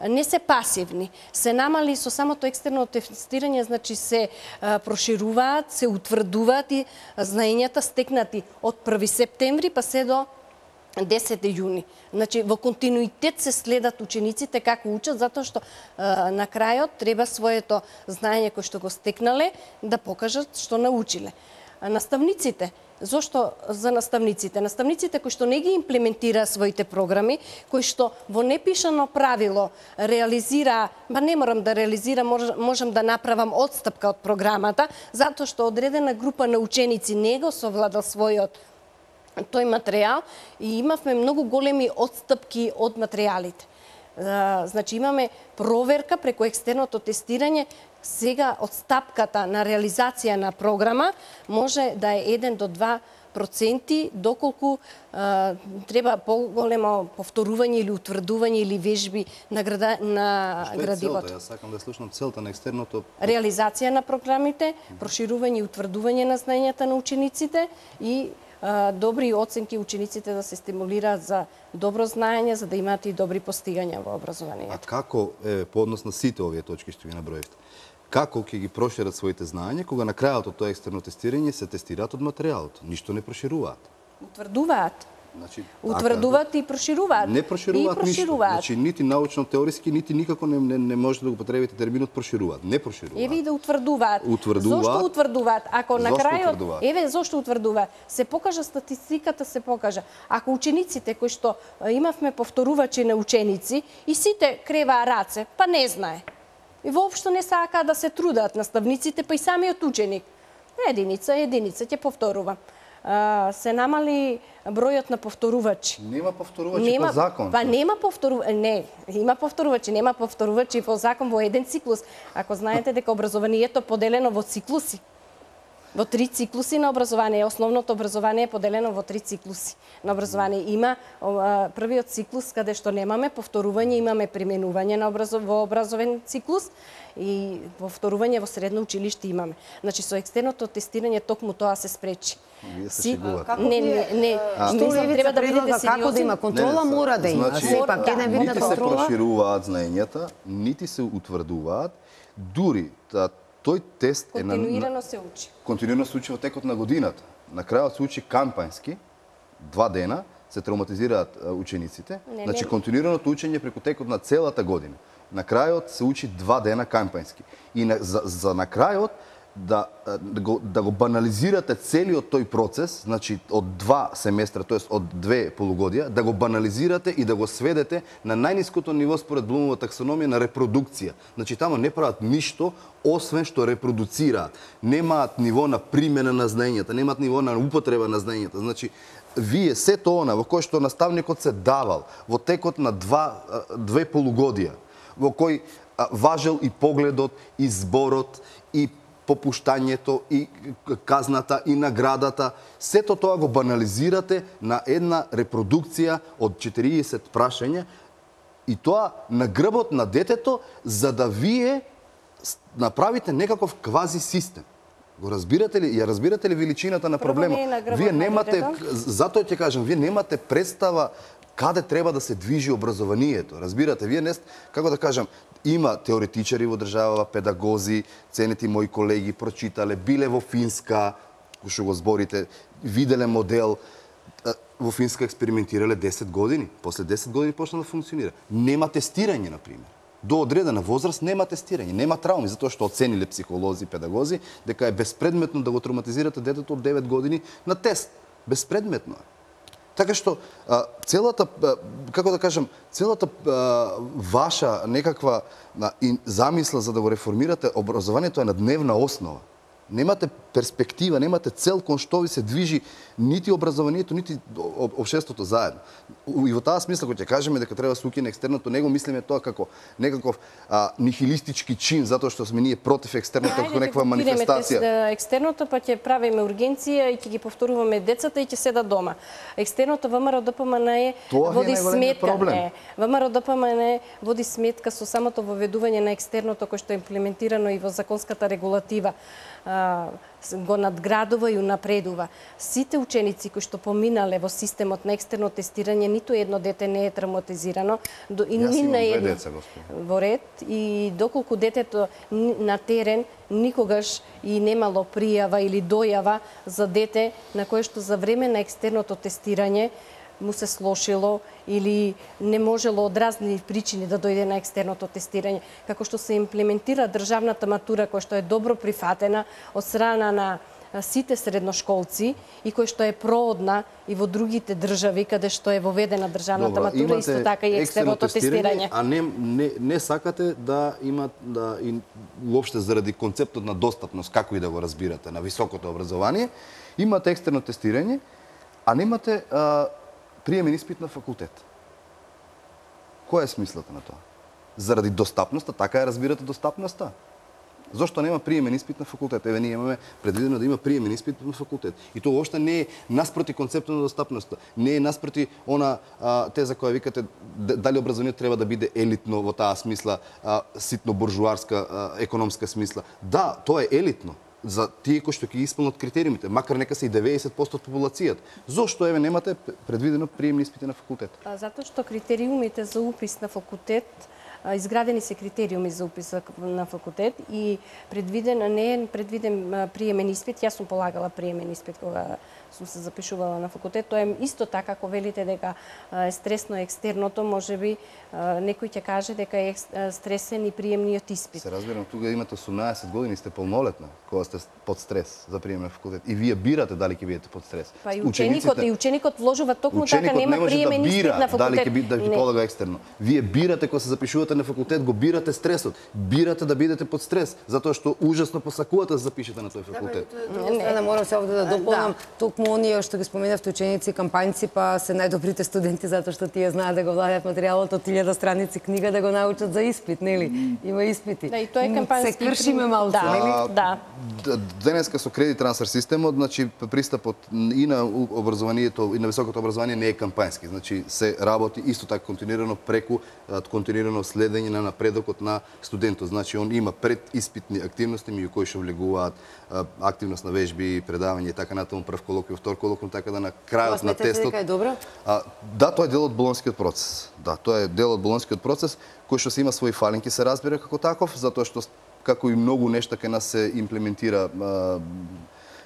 Не се пасивни, се намали со самото екстерно тестирање, значи се а, прошируваат, се утврдуваат и знаењата стекнати од први септември па се до десети јуни. Значи, во континуитет се следат учениците како учат, затоа што а, на крајот треба своето знаење кое што го стекнале да покажат што научиле. наставниците. Зошто за наставниците? Наставниците кои што не ги имплементира своите програми, кои што во непишано правило реализира, ба не морам да реализирам, можам да направам отстапка од програмата, затоа што одредена група на ученици не го совладал својот тој материјал и имавме многу големи отстапки од материјалите. Значи имаме проверка преку екстерното тестирање. Сега отстапката на реализација на програма може да е еден до два проценти, доколку а, треба поголемо повторување или утврдување или вежби на, града, на
Што е
градивото.
целта? Јас сакам да слушнам целта на екстерното.
Реализација на програмите, проширување и утврдување на знаењата на учениците и а, добри оценки учениците да се стимулираат за добро знаење, за да имаат и добри постигања во образованието.
А како е по однос на сите овие точки што ги наброивте? Како ќе ги прошират своите знаења кога на крајот од тоа екстерно тестирање се тестираат од материјалот? Ништо не прошируваат.
Утврдуваат.
Значи,
Утврдуваат и прошируваат.
Не прошируваат,
и прошируваат.
ништо. Значи, нити научно-теориски, нити никако не, не, не можете да го употребите терминот прошируваат. Не прошируваат.
Еве и да утврдуваат.
Утврдуваат.
Зошто утврдуваат? Ако на
Зошто
крајот,
утврдуваат?
еве зошто утврдуваат? Се покажа статистиката, се покажа. Ако учениците кои што имавме повторувачи на ученици и сите креваа раце, па не знае. И воопшто не сакаат да се трудат наставниците, па и самиот ученик. Единица, единица, ќе повторувам. А, се намали бројот на повторувачи.
Нема повторувачи по закон.
Па нема повторувачи, не, има повторувачи, нема повторувачи по закон во еден циклус. Ако знаете дека образованието е поделено во циклуси. Во три циклуси на образование, основното образование е поделено во три циклуси на образование. Има о, првиот циклус каде што немаме повторување, имаме применување на образов, во образовен циклус и повторување во средно училиште имаме. Значи со екстерното тестирање токму тоа се спречи.
Вие се шегувате.
Не, не, не.
Што Ивица предлага како да има контрола,
Не, не,
мора да има.
значи,
Сепак еден вид на
Нити се
контрола.
прошируваат знаењата, нити се утврдуваат, дури та, тој тест е на...
Континуирано се учи.
Континуирано се учи во текот на годината. На крајот се учи кампањски, два дена се травматизираат а, учениците.
Не,
значи
не.
континуираното учење преку текот на целата година. На крајот се учи два дена кампањски. И на, за, за на крајот да, да, го, да го банализирате целиот тој процес, значи од два семестра, тоест од две полугодија, да го банализирате и да го сведете на најниското ниво според Блумова таксономија на репродукција. Значи тамо не прават ништо освен што репродуцираат. Немаат ниво на примена на знаењата, немаат ниво на употреба на знаењата. Значи вие сето она во кој што наставникот се давал во текот на два, две полугодија, во кој а, важел и погледот, и зборот, и попуштањето, и казната, и наградата, сето тоа го банализирате на една репродукција од четириесет прашања и тоа на грбот на детето, за да вие направите некаков квази систем. Го разбирате ли? Ја разбирате ли величината на проблема?
не е на грбот
Вие
на
немате,
детето.
затоа ќе кажам, вие немате представа каде треба да се движи образованието. Разбирате, вие не, како да кажам, има теоретичари во државава, педагози, ценети мои колеги прочитале, биле во Финска, што го зборите, виделе модел, во Финска експериментирале десет години, после десет години почна да функционира. Нема тестирање, на пример. До одредена возраст нема тестирање, нема трауми, затоа што оцениле психолози и педагози дека е безпредметно да го травматизирате детето од девет години на тест. Безпредметно е. Така што а, целата, а, како да кажам, целата а, ваша некаква а, и замисла за да го реформирате образованието е на дневна основа. Немате перспектива, немате цел кон што ви се движи нити образованието, нити општеството заедно. И во таа смисла, кога ќе кажеме дека треба да се укине екстерното, него мислиме тоа како некаков а, нихилистички чин, затоа што сме ние против екстерното како некаква манифестација.
Екстерното па ќе правиме ургенција и ќе ги повторуваме децата и ќе седат дома. Екстерното ВМРО ДПМН е води сметка. Не, ВМРО ДПМН води сметка со самото воведување на екстерното кој што е имплементирано и во законската регулатива. Го надградува и унапредува. Сите ученици кои што поминале во системот на екстерно тестирање, ниту едно дете не е травматизирано. И
Јас
ни
имам
на
две
едно
деца, господи.
во ред и доколку детето на терен никогаш и немало пријава или дојава за дете на кое што за време на екстерното тестирање му се слошило или не можело од разни причини да дојде на екстерното тестирање. Како што се имплементира државната матура, која што е добро прифатена од страна на сите средношколци и кој што е проодна и во другите држави каде што е воведена државната
Добро,
матура, исто така и екстерното тестирање.
А не, не, не сакате да има да, и, уопште заради концептот на достапност, како и да го разбирате, на високото образование, имате екстерно тестирање, а немате а, приемен испит на факултет. Која е смислата на тоа? Заради достапноста, така ја разбирате достапноста? Зошто нема приемен испит на факултет? Еве, ние имаме предвидено да има приемен испит на факултет. И тоа уопште не е наспроти концептот на достапноста. Не е наспроти она а, теза која викате дали образованието треба да биде елитно во таа смисла, а, ситно буржуарска, а, економска смисла. Да, тоа е елитно за тие кои што ќе исполнат критериумите, макар нека се и деветдесет проценти од популацијата. Зошто еве немате предвидено приемни испити на факултет?
Затоа што критериумите за упис на факултет, изградени се критериуми за упис на факултет и предвиден, не е предвиден приемен испит. Јас сум полагала приемен испит кога сум се запишувала на факултет. Тоа е исто така, ако велите дека е стресно екстерното, можеби некој ќе каже дека е стресен и приемниот испит.
Се разбирам, тука имате осумнаесет години, сте полнолетна, кога сте под стрес за прием на факултет. И вие бирате дали ќе бидете под стрес.
Па и ученикот, и ученикот вложува токму така, нема приемен
да
испит на факултет.
Дали ќе биде да ви полага екстерно. Вие бирате кога се запишувате на факултет, го бирате стресот. Бирате да бидете под стрес, затоа што ужасно посакувате да запишете на тој факултет.
Не, морам се овде да дополнам. Токму оние што ги споменавте ученици, кампањци, па се најдобрите студенти затоа што тие знаат да го владеат материјалот од илјада страници книга да го научат за испит, нели? Има испити.
Да, и тоа е кампањски.
Се кршиме малку,
да,
нели?
Да.
Денеска со кредит трансфер системот, значи пристапот и на образованието и на високото образование не е кампањски. Значи се работи исто така континуирано преку континуирано следење на напредокот на студентот. Значи он има предиспитни активности меѓу кои што влегуваат активност на вежби, предавање и така натаму, прв колоквиум, втор колоквиум, така да на крајот на тестот.
Дека е добро?
А, да, тоа е дел од болонскиот процес. Да, тоа е дел од болонскиот процес кој што се има своји фалинки, се разбира како таков, затоа што како и многу нешта кај нас се имплементира а,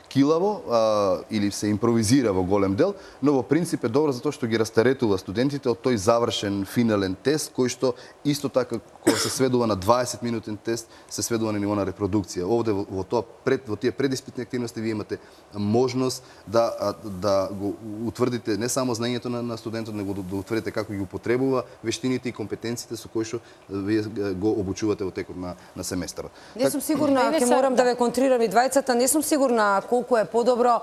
килаво а, или се импровизира во голем дел, но во принцип е добро затоа што ги растаретува студентите од тој завршен финален тест кој што исто така кога се сведува на дваесет минутен тест се сведува на ниво на репродукција. Овде во, во тоа пред во тие предиспитни активности вие имате можност да да го утврдите не само знаењето на, на студентот, него да, да утврдите како ги употребува вештините и компетенциите со кои што вие го обучувате во текот на на семестарот.
Не сум сигурна, ќе морам да ве контрирам и двајцата, не сум сигурна колку е подобро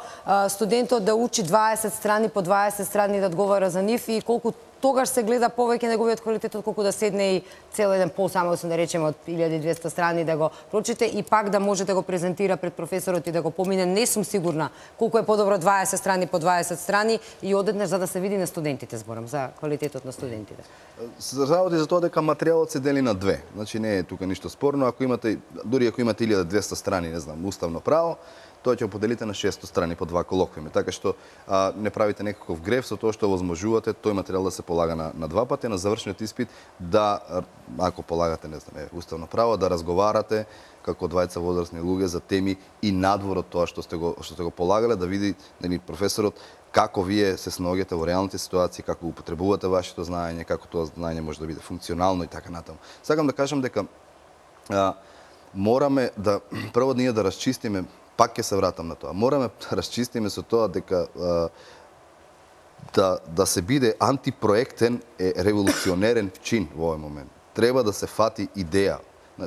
студентот да учи дваесет страни по дваесет страни да одговара за нив и колку тогаш се гледа повеќе неговиот квалитет отколку да седне и цел еден пол само да се да речеме од илјада и двесте страни да го прочите и пак да може да го презентира пред професорот и да го помине. Не сум сигурна колку е подобро дваесет страни по дваесет страни и одеднаш за да се види на студентите, зборам за квалитетот на студентите.
Се работи за тоа дека материјалот се дели на две. Значи не е тука ништо спорно, ако имате дури ако имате илјада и двесте страни, не знам, уставно право, тоа ќе го поделите на шестстотини страни по два колоквиуми, така што а, не правите некаков греф со тоа што возможувате тој материјал да се полага на, на два пати, на завршниот испит да, ако полагате, не знам, уставно право, да разговарате како двајца возрастни луѓе за теми и надвор од тоа што сте го што сте го полагале, да види нели професорот како вие се снаоѓате во реалните ситуации, како употребувате вашето знаење, како тоа знаење може да биде функционално и така натаму. Сакам да кажам дека а, мораме да прво ние да расчистиме, пак ќе се вратам на тоа. Мораме да расчистиме со тоа дека а, да да се биде антипроектен е револуционерен чин во овој момент. Треба да се фати идеја,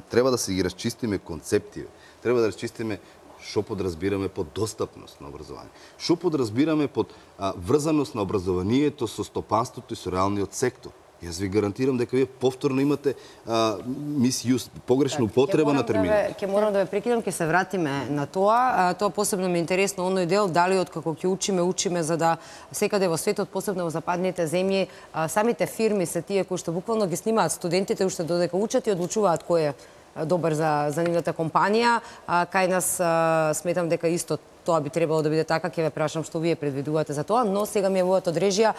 треба да се ги расчистиме концепти, треба да расчистиме што подразбираме под достапност на образование. Што подразбираме под а, врзаност на образованието со стопанството и со реалниот сектор. Јас ви гарантирам дека вие повторно имате мисјус, погрешна употреба на термини.
Ќе морам да ве прекинам, ќе се вратиме на тоа. А, тоа посебно ми е интересно оној дел, дали од како ќе учиме, учиме за да секаде во светот, посебно во западните земји, а, самите фирми се тие кои што буквално ги снимаат студентите уште додека учат и одлучуваат кој е добар за, за нивната компанија. А, кај нас а, сметам дека исто тоа би требало да биде така, ќе ве прашам што вие предвидувате за тоа, но сега ми е мојот одрежија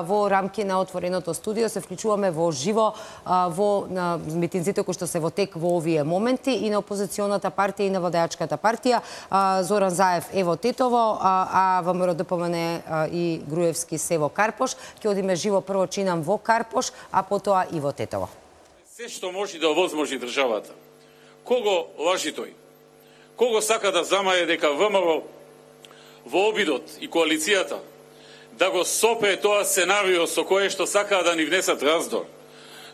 во рамки на отвореното студио се вклучуваме во живо а, во на митинзите кои што се во тек во овие моменти и на опозиционата партија и на владеачката партија. А, Зоран Заев е во Тетово, а, а ВМРО ДПМН и Груевски се во Карпош. Ќе одиме живо прво чинам во Карпош, а потоа и во Тетово.
Се што може да овозможи државата. Кого лажи тој? кого сака да замае дека ВМРО во обидот и коалицијата да го сопре тоа сценарио со кое што сакаат да ни внесат раздор,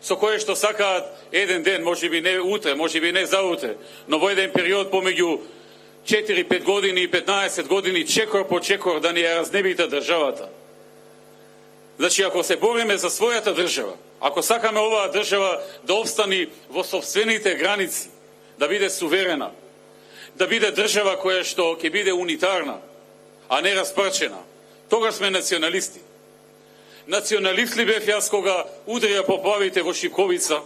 со кое што сакаат еден ден, можеби не утре, можеби не заутре, но во еден период помеѓу четири-пет години и петнаесет години, чекор по чекор да ни ја разнебите државата. Значи, ако се бориме за својата држава, ако сакаме оваа држава да обстани во собствените граници, да биде суверена, да биде држава која што ќе биде унитарна, а не распрчена, тогаш сме националисти. Националист ли бев јас кога удрија поплавите во Шипковица,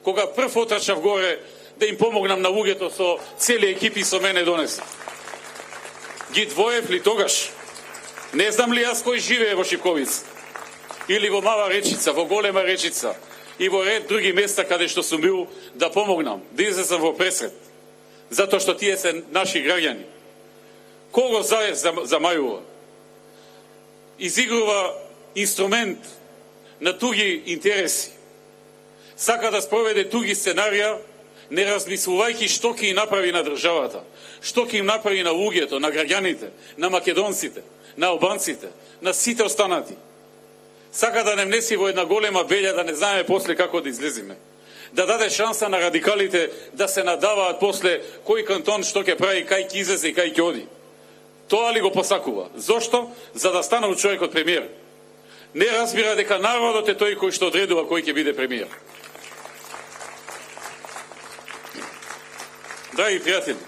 кога прв отрчав горе да им помогнам на луѓето со цели екипи со мене донеса. Ги двоев ли тогаш? Не знам ли јас кој живее во Шипковица? Или во Мала Речица, во Голема Речица и во ред други места каде што сум бил да помогнам, да излезам во пресред, затоа што тие се наши граѓани. Кого Заев замајува? Изигрува инструмент на туги интереси. Сака да спроведе туги сценарија, не размислувајќи што ќе им направи на државата, што ќе им направи на луѓето, на граѓаните, на македонците, на албанците, на сите останати. Сака да не внеси во една голема белја, да не знаеме после како да излезиме. Да даде шанса на радикалите да се надаваат после кој кантон што ќе прави, кај ќе излезе и кај ќе оди. Тоа ли го посакува? Зошто? За да станал човекот премиер. Не разбира дека народот е тој кој што одредува кој ќе биде премиер. Драги пријатели,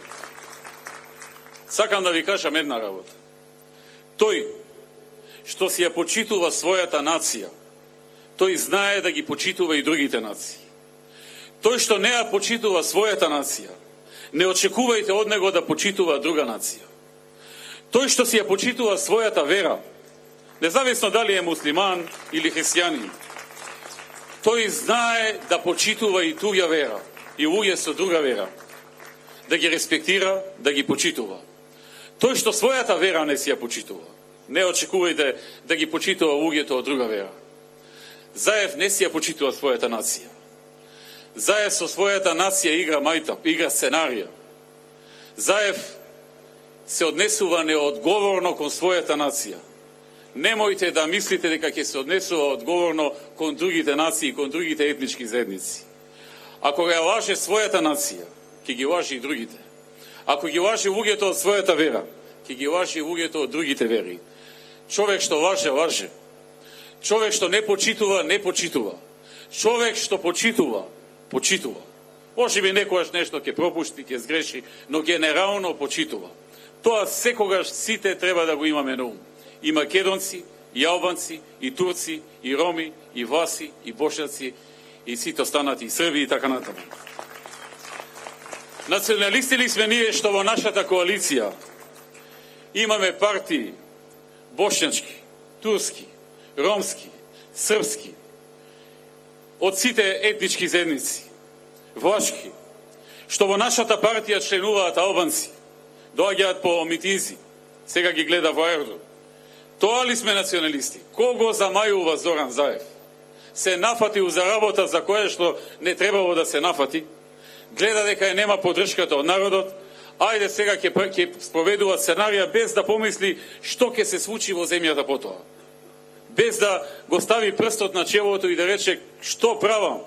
сакам да ви кажам една работа. Тој што си ја почитува својата нација, тој знае да ги почитува и другите нации. Тој што не ја почитува својата нација, не очекувајте од него да почитува друга нација. Тој што си ја почитува својата вера, независно дали е муслиман или христијанин, тој знае да почитува и туѓа вера, и луѓе со друга вера, да ги респектира, да ги почитува. Тој што својата вера не си ја почитува, не очекувајте да ги почитува луѓето од друга вера. Заев не си ја почитува својата нација. Заев со својата нација игра мајта, игра сценарија. Заев се однесува неодговорно кон својата нација. Немојте да мислите дека ќе се однесува одговорно кон другите нации, кон другите етнички заедници. Ако ја лаже својата нација, ќе ги лаже и другите. Ако ги лаже луѓето од својата вера, ќе ги лаже и луѓето од другите вери. Човек што лаже, лаже. Човек што не почитува, не почитува. Човек што почитува, почитува. Може би некојаш нешто ќе пропушти, ќе сгреши, но генерално почитува. Тоа секогаш сите треба да го имаме на ум. И македонци, и албанци, и турци, и роми, и власи, и бошаци, и сите останати, и срби, и така натаму. Националисти ли сме ние што во нашата коалиција имаме партии бошњачки, турски, ромски, српски, од сите етнички заедници, влашки, што во нашата партија членуваат албанци, доаѓаат по митинзи, сега ги гледа во аеродром. Тоа ли сме националисти? Кого замајува Зоран Заев? Се нафатил за работа за која што не требало да се нафати, гледа дека ја нема поддршката од народот, ајде сега ќе ќе спроведува сценарија без да помисли што ќе се случи во земјата потоа. Без да го стави прстот на челото и да рече што правам,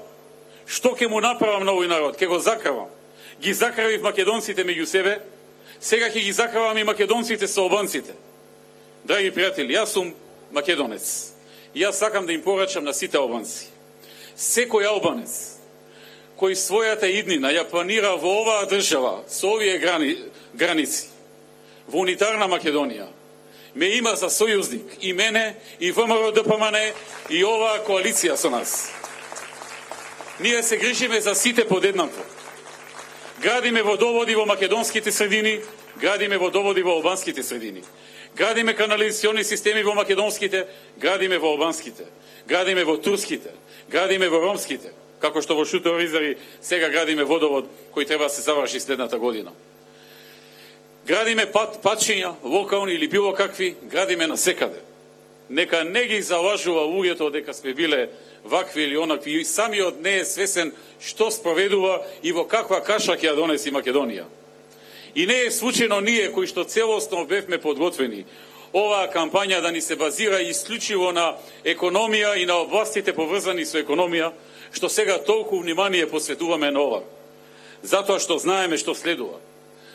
што ќе му направам на овој народ, ќе го закравам. Ги закравив македонците меѓу себе, сега ќе ги закравам и македонците со албанците. Драги пријатели, јас сум македонец. И јас сакам да им порачам на сите албанци. Секој албанец кој својата иднина ја планира во оваа држава, со овие грани, граници, во унитарна Македонија, ме има за сојузник и мене, и ВМРО Д П М Н, и оваа коалиција со нас. Ние се грижиме за сите подеднакво. Градиме водоводи во македонските средини, градиме водоводи во албанските средини. Градиме канализационни системи во македонските, градиме во албанските. Градиме во турските, градиме во ромските. Како што во Шутево Ризари сега градиме водовод кој треба да се заврши следната година. Градиме пат, патчиња, локални или било какви, градиме на секаде. Нека не ги залажува луѓето дека сме биле вакви или онакви, и самиот не е свесен што спроведува и во каква каша ќе ја донеси Македонија. И не е случајно ние кои што целосно бевме подготвени оваа кампања да ни се базира исклучиво на економија и на областите поврзани со економија, што сега толку внимание посветуваме на ова. Затоа што знаеме што следува.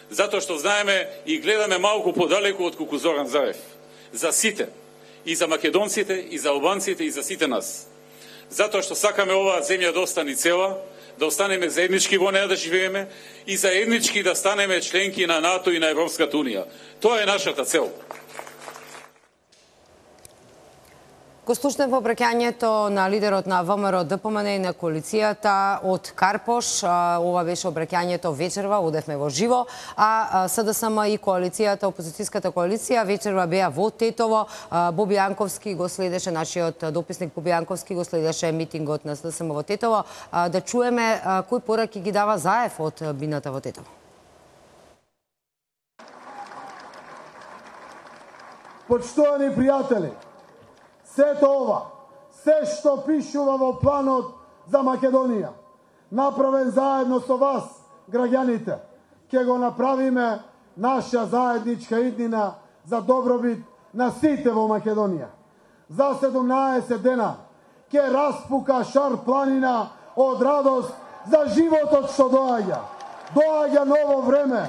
Затоа што знаеме и гледаме малку подалеку од колку Зоран Заев. За сите. И за македонците, и за албанците, и за сите нас. Затоа што сакаме оваа земја да остане цела, да останеме заеднички во неја да живееме и заеднички да станеме членки на НАТО и на Европската Унија. Тоа е нашата цел.
Го слушнав обраќањето на лидерот на ВМРО ДПМН и на коалицијата од Карпош. Ова беше обраќањето вечерва, одевме во живо, а СДСМ и коалицијата, опозицијската коалиција, вечерва беа во Тетово. Боби Јанковски го следеше, нашиот дописник Боби Јанковски го следеше митингот на СДСМ во Тетово. Да чуеме кои пораки ги дава Заев од бината во Тетово.
Почитувани пријатели, сето ова, се што пишува во планот за Македонија, направен заедно со вас, граѓаните, ќе го направиме наша заедничка иднина за добробит на сите во Македонија. За седумнаесет дена ќе распука шар планина од радост за животот што доаѓа. Доаѓа ново време,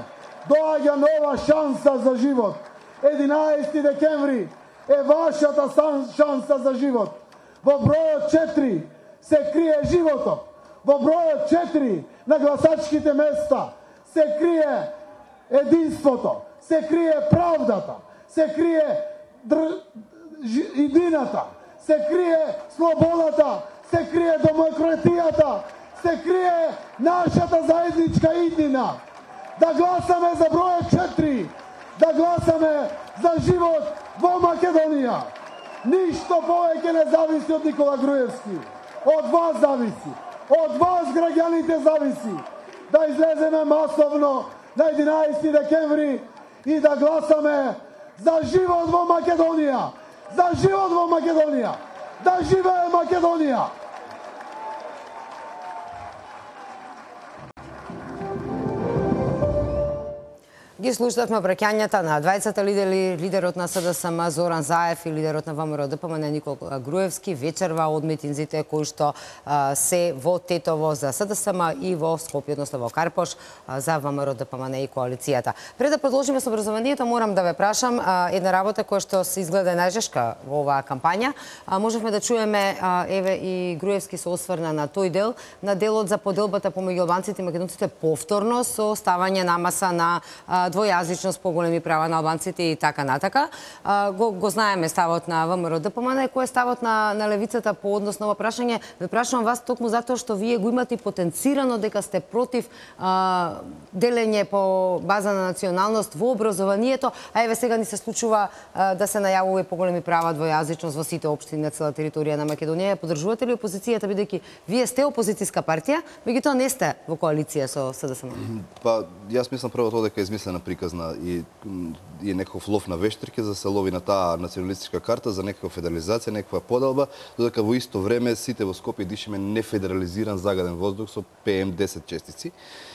доаѓа нова шанса за живот. единаесети декември е вашата шанса за живот. Во бројот четири се крие животот. Во бројот четири на гласачките места се крие единството, се крие правдата, се крие др... идината, се крие слободата, се крие демократијата, се крие нашата заедничка иднина. Да гласаме за бројот четири, да гласаме за живот во Македонија. Ништо повеќе не зависи од Никола Груевски. Од вас зависи. Од вас, граѓаните, зависи. Да излеземе масовно на единаесети декември и да гласаме за живот во Македонија. За живот во Македонија. Да живее Македонија.
Ги слушавме обраќањата на двајцата лидери, лидерот на СДСМ Зоран Заев и лидерот на ВМРО ДПМН Никола Груевски вечерва од митинзите кои што а, се во Тетово за СДСМ и во Скопје, односно во Карпош а, за ВМРО ДПМН и коалицијата. Пред да продолжиме со образованието, морам да ве прашам а, една работа која што се изгледа најжешка во оваа кампања. А, можевме да чуеме а, еве и Груевски се осврна на тој дел, на делот за поделбата помеѓу албанците и македонците повторно со ставање на маса на а, двојазичност, поголеми права на албанците и така натака. Го, го знаеме ставот на ВМРО ДПМН, кој е ставот на, на левицата по однос на ова прашање. Ве прашувам вас токму затоа што вие го имате потенцирано дека сте против а, делење по база на националност во образованието, а еве сега ни се случува а, да се најавува и поголеми права двојазичност во сите општини на цела територија на Македонија. Подржувате ли опозицијата, бидејќи вие сте опозицијска партија, меѓутоа не сте во коалиција со СДСМ?
Па, јас мислам прво тоа дека е измислена приказна и, и е некаков лов на вештерки за да се лови на таа националистичка карта за некаква федерализација, некаква поделба, додека во исто време сите во Скопје дишеме нефедерализиран загаден воздух со Пе Ем десет честици.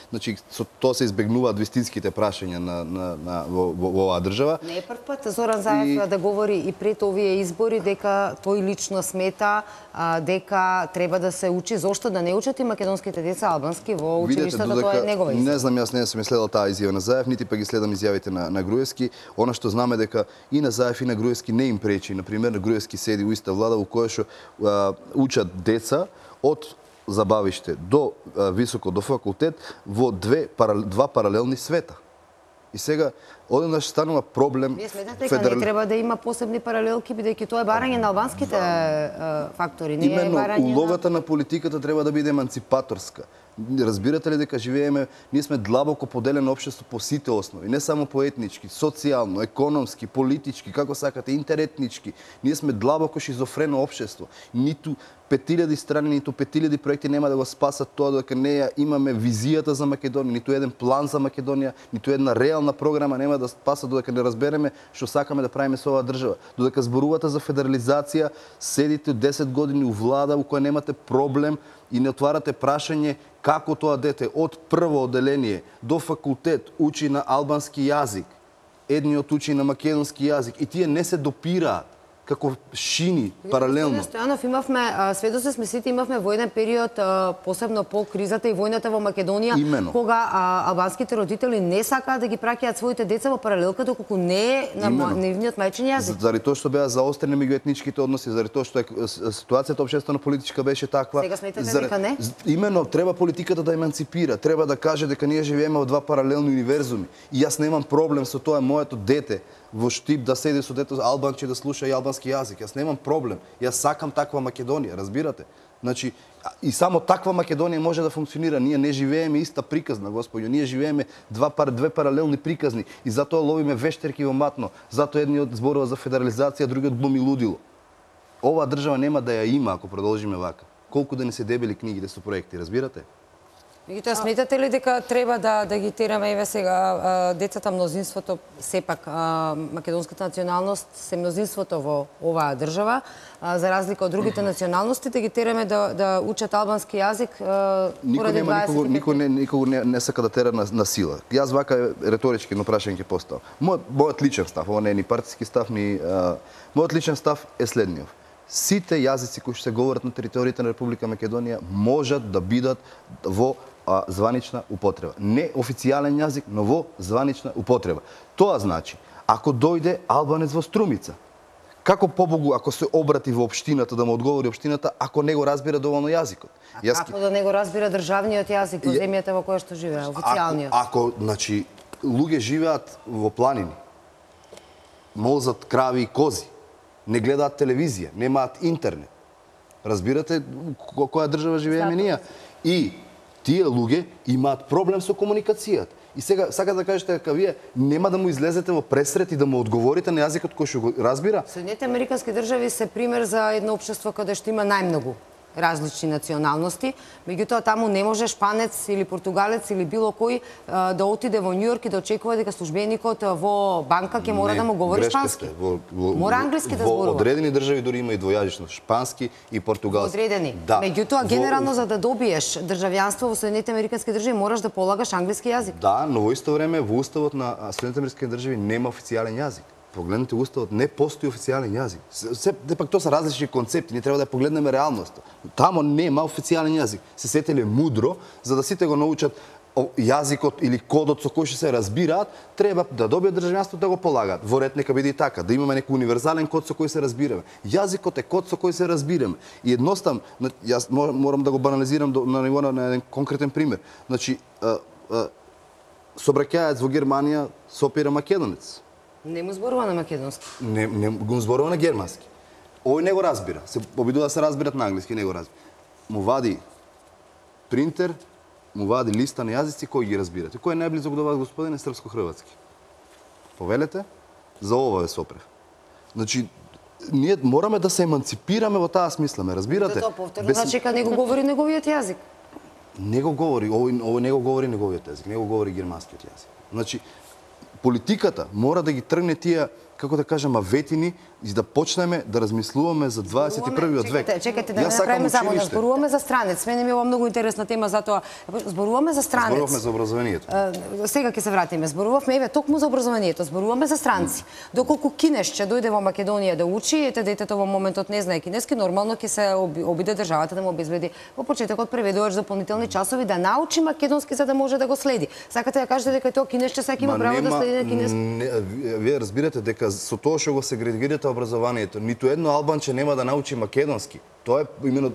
Значи, со тоа се избегнуваат вистинските прашања на, на, на, во, во, во оваа држава.
Не е прв пат Зоран Заев и... да говори и пред овие избори дека тој лично смета а, дека треба да се учи. Зошто да не учат и македонските деца албански во училиштата, тоа е негова изјава.
Не знам, јас не сум следел таа изјава на Заев, нити па ги следам изјавите на, на Груевски. Она што знаме дека и на Заев и на Груевски не им пречи. Например, на Груевски седи у иста влада во која што учат деца од забавиште до високо, до факултет во две, два паралелни света. И сега, одеднаш станува проблем...
Вие сметате дека федерал... не треба да има посебни паралелки, бидејќи тоа е барање на албанските е, фактори, не
Именно,
е барање
улогата
на...
на политиката треба да биде еманципаторска. Разбирате ли дека живееме, ние сме длабоко поделено општество по сите основи, не само по етнички, социјално, економски, политички, како сакате, интеретнички. Ние сме длабоко шизофрено општество. Ниту пет илјади страни, ниту пет илјади проекти нема да го спасат тоа дека неја имаме визијата за Македонија, ниту еден план за Македонија, ниту една реална програма нема нема да спасат додека не разбереме што сакаме да правиме со оваа држава. Додека зборувате за федерализација, седите десет години у влада у која немате проблем и не отварате прашање како тоа дете од прво одделение до факултет учи на албански јазик, едниот учи на македонски јазик и тие не се допираат како шини паралелно.
Стојанов, имавме, сведоци сме сите, имавме во еден период, посебно по кризата и војната во Македонија,
Имено.
кога а, албанските родители не сакаат да ги праќаат своите деца во паралелка, доколку не е на нивниот мајчин јазик.
Заради тоа што беа заострени меѓуетничките односи, заради тоа што е, ситуацијата општествено-политичка беше таква.
Сега сметате
заради,
дека не?
Имено, треба политиката да еманципира, треба да каже дека ние живееме во два паралелни универзуми. И јас немам проблем со тоа моето дете во Штип да седи со дето албанче да слуша и албански јазик. Јас немам проблем. Јас сакам таква Македонија, разбирате? Значи, и само таква Македонија може да функционира. Ние не живееме иста приказна, господјо. Ние живееме два пар, две паралелни приказни и затоа ловиме вештерки во матно. Затоа едниот зборува за федерализација, другиот глуми лудило. Оваа држава нема да ја има ако продолжиме вака. Колку да не се дебели книгите со проекти, разбирате?
Меѓутоа, сметате ли дека треба да, да ги тераме еве сега децата, мнозинството, сепак македонската националност се мнозинството во оваа држава, за разлика од другите националности, да ги тераме да, да учат албански јазик
Никој нема никого, никој не, никого не, не сака да тера на, на сила. Јас вака реторички но прашање ќе поставам. Мојот, мојот личен став, ова не е ни партиски став, ни а, мојот личен став е следниот. Сите јазици кои што се говорат на територијата на Република Македонија можат да бидат во а, званична употреба. Не официјален јазик, но во званична употреба. Тоа значи, ако дојде албанец во Струмица, како побогу ако се обрати во општината да му одговори општината ако не го разбира доволно јазикот?
А Јас... како да не го разбира државниот јазик во земјата во која што живее, официјалниот?
Ако, ако значи, луѓе живеат во планини, молзат крави и кози, не гледаат телевизија, немаат интернет. Разбирате која држава живееме ние? И тие луѓе имаат проблем со комуникацијата. И сега сака да кажете дека вие нема да му излезете во пресрет и да му одговорите на јазикот кој што го разбира?
Соединетите американски држави се пример за едно општество каде што има најмногу различни националности, меѓутоа таму не може шпанец или португалец или било кој да отиде во Њујорк и да очекува дека службеникот во банка ќе мора
не,
да му говори шпански.
Во, во,
мора англиски да зборува.
Во одредени држави дури има и двојазично шпански и португалски.
Одредени.
Да.
Меѓутоа генерално за да добиеш државјанство во Соединетите американски држави мораш да полагаш англиски јазик.
Да, но во исто време во уставот на Соединетите американски држави нема официјален јазик. Погледнете уставот, не постои официјален јазик. Се, пак тоа се различни концепти, ние треба да погледнеме реалноста. Тамо нема официјален јазик. Се сетеле мудро, за да сите го научат јазикот или кодот со кој што се разбираат, треба да добиат државјанство да го полагаат. Во ред нека биде и така, да имаме некој универзален код со кој се разбираме. Јазикот е код со кој се разбираме. И едноставно, јас морам да го банализирам на ниво на еден конкретен пример. Значи, сообраќаец во Германија сопира македонец.
Не му зборува на македонски.
Не, не го зборува на германски. Овој не го разбира. Се обидува да се разбират на англиски, не го разбира. Му вади принтер, му вади листа на јазици кои ги разбирате. Кој е најблизок до вас, господине, српско-хрватски? Повелете, за ова ве сопрев. Значи, ние мораме да се еманципираме во таа смисла, ме разбирате?
Тоа повторно значи дека не го говори неговиот јазик.
Не го говори, овој, овој не го говори неговиот јазик, не го говори германскиот јазик. Значи, политиката мора да ги тргне тие, како да кажам, аветини и да почнеме да размислуваме за дваесет и првиот век.
Чекайте, чекайте да направиме само да зборуваме за странец. Мене ми е ова многу интересна тема, затоа зборуваме за странец.
Зборуваме за образованието.
Сега ќе се вратиме. Зборувавме еве токму за образованието, зборуваме за странци. Доколку кинеш ќе дојде во Македонија да учи, ете детето во моментот не знае кинески, нормално ќе се обиде државата да му обезбеди во почетокот преведувач дополнителни часови да научи македонски за да може да го следи. Сакате да кажете дека тоа кинешче сега има право да следи на кинески?
Вие разбирате дека со тоа што го сегрегирате образованието, ниту едно албанче нема да научи македонски. Тоа е именно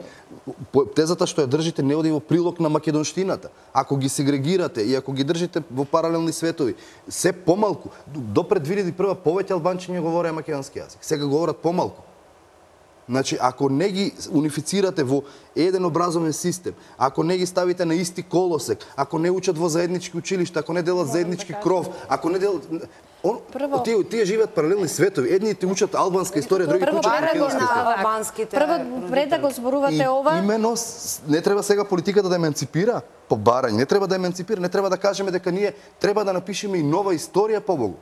тезата што ја држите не оди во прилог на македонштината. Ако ги сегрегирате и ако ги држите во паралелни светови, се помалку, до пред две илјади и прва повеќе албанчиња говореа македонски јазик. Сега говорат помалку. Значи, ако не ги унифицирате во еден образовен систем, ако не ги ставите на исти колосек, ако не учат во заеднички училишта, ако не делат заеднички кров, ако не делат... Он, Прво... тие, тие живеат паралелни светови. Едните учат албанска историја, другите учат македонска
историја.
Прво, пред да го зборувате ова...
Имено, не треба сега политиката да еманципира по барање, не треба да еманципира, не треба да кажеме дека ние треба да напишеме и нова историја, побогу.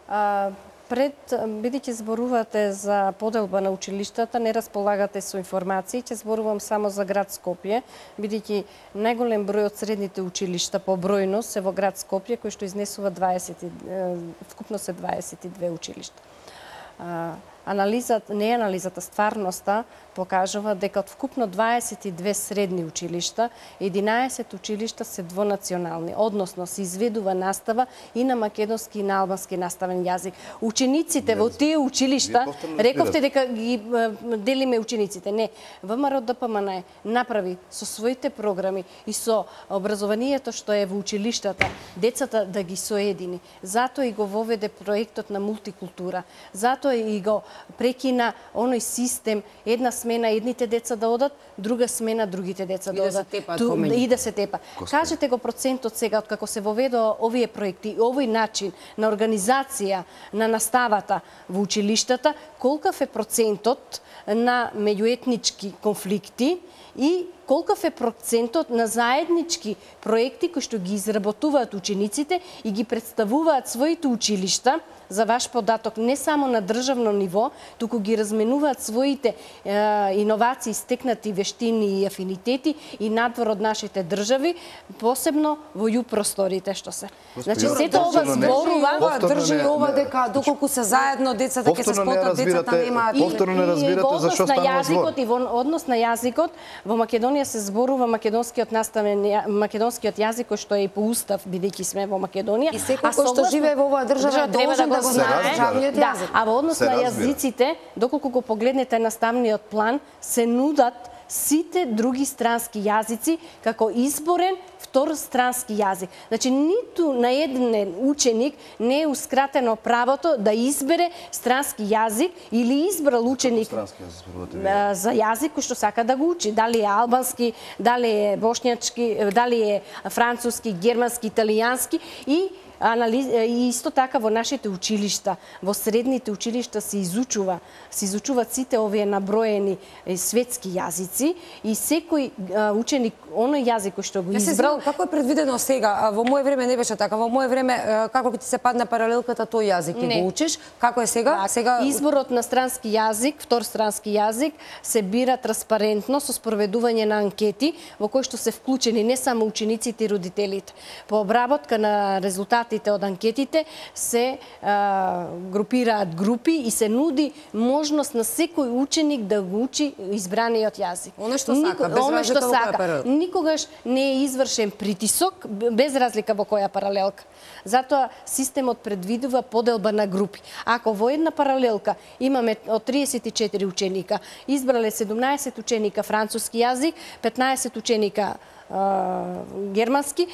А, Пред, бидејќи зборувате за поделба на училиштата, не располагате со информации, ќе зборувам само за град Скопје, бидејќи најголем број од средните училишта по бројност се во град Скопје, кој што изнесува дваесет, вкупно се дваесет и две училишта. Анализата, не анализата, стварноста покажува дека од вкупно дваесет и две средни училишта, единаесет училишта се двонационални, односно се изведува настава и на македонски и на албански наставен јазик. Учениците во тие училишта, рековте дека ги делиме учениците. Не, ВМРО Д П М Н направи со своите програми и со образованието што е во училиштата, децата да ги соедини. Затоа и го воведе проектот на мултикултура. Затоа и го прекина оној систем, една смена едните деца да одат, друга смена другите деца да одат. И да се тепа. Кажете го процентот сега, откако се воведоа овие проекти, овој начин на организација на наставата во училиштата, колкав е процентот на меѓуетнички конфликти и колкав е процентот на заеднички проекти кои што ги изработуваат учениците и ги представуваат своите училишта, за ваш податок, не само на државно ниво, туку ги разменуваат своите е, иновации, стекнати вештини и афинитети и надвор од нашите држави, посебно во ју просторите што се. Значи, сето ова зборува,
држи ова дека доколку се заедно децата ќе се спотат, децата немаат.
Повторно не разбирате зашто станува збор.
И во однос на јазикот, во Македонија се зборува македонскиот наставен македонскиот јазик кој што е и по устав, бидејќи сме во Македонија.
И секој кој што живее во оваа држава должен да го знае државниот јазик.
А во однос на јазиците, доколку го погледнете наставниот план, се нудат сите други странски јазици како изборен втор странски јазик. Значи, ниту на еден ученик не е ускратено правото да избере странски јазик или избрал ученик за јазик кој што сака да го учи. Дали е албански, дали е бошњачки, дали е француски, германски, италијански и Анализ... И исто така во нашите училишта, во средните училишта се изучува, се изучуваат сите овие наброени светски јазици и секој ученик оној јазик кој што го избрал.
Како е предвидено сега? Во моје време не беше така. Во моје време како ти се падна паралелката тој јазик и го учиш. Како е сега?
Да,
сега
изборот на странски јазик, втор странски јазик се бира транспарентно со спроведување на анкети во кои што се вклучени не само учениците и родителите. По обработка на резултати од анкетите се а, групираат групи и се нуди можност на секој ученик да го учи избраниот јазик.
Оно што сака, без
Оно што
сака.
сака. Никогаш не е извршен притисок, без разлика во која паралелка. Затоа системот предвидува поделба на групи. Ако во една паралелка имаме од триесет и четири ученика, избрале седумнаесет ученика француски јазик, петнаесет ученика германски,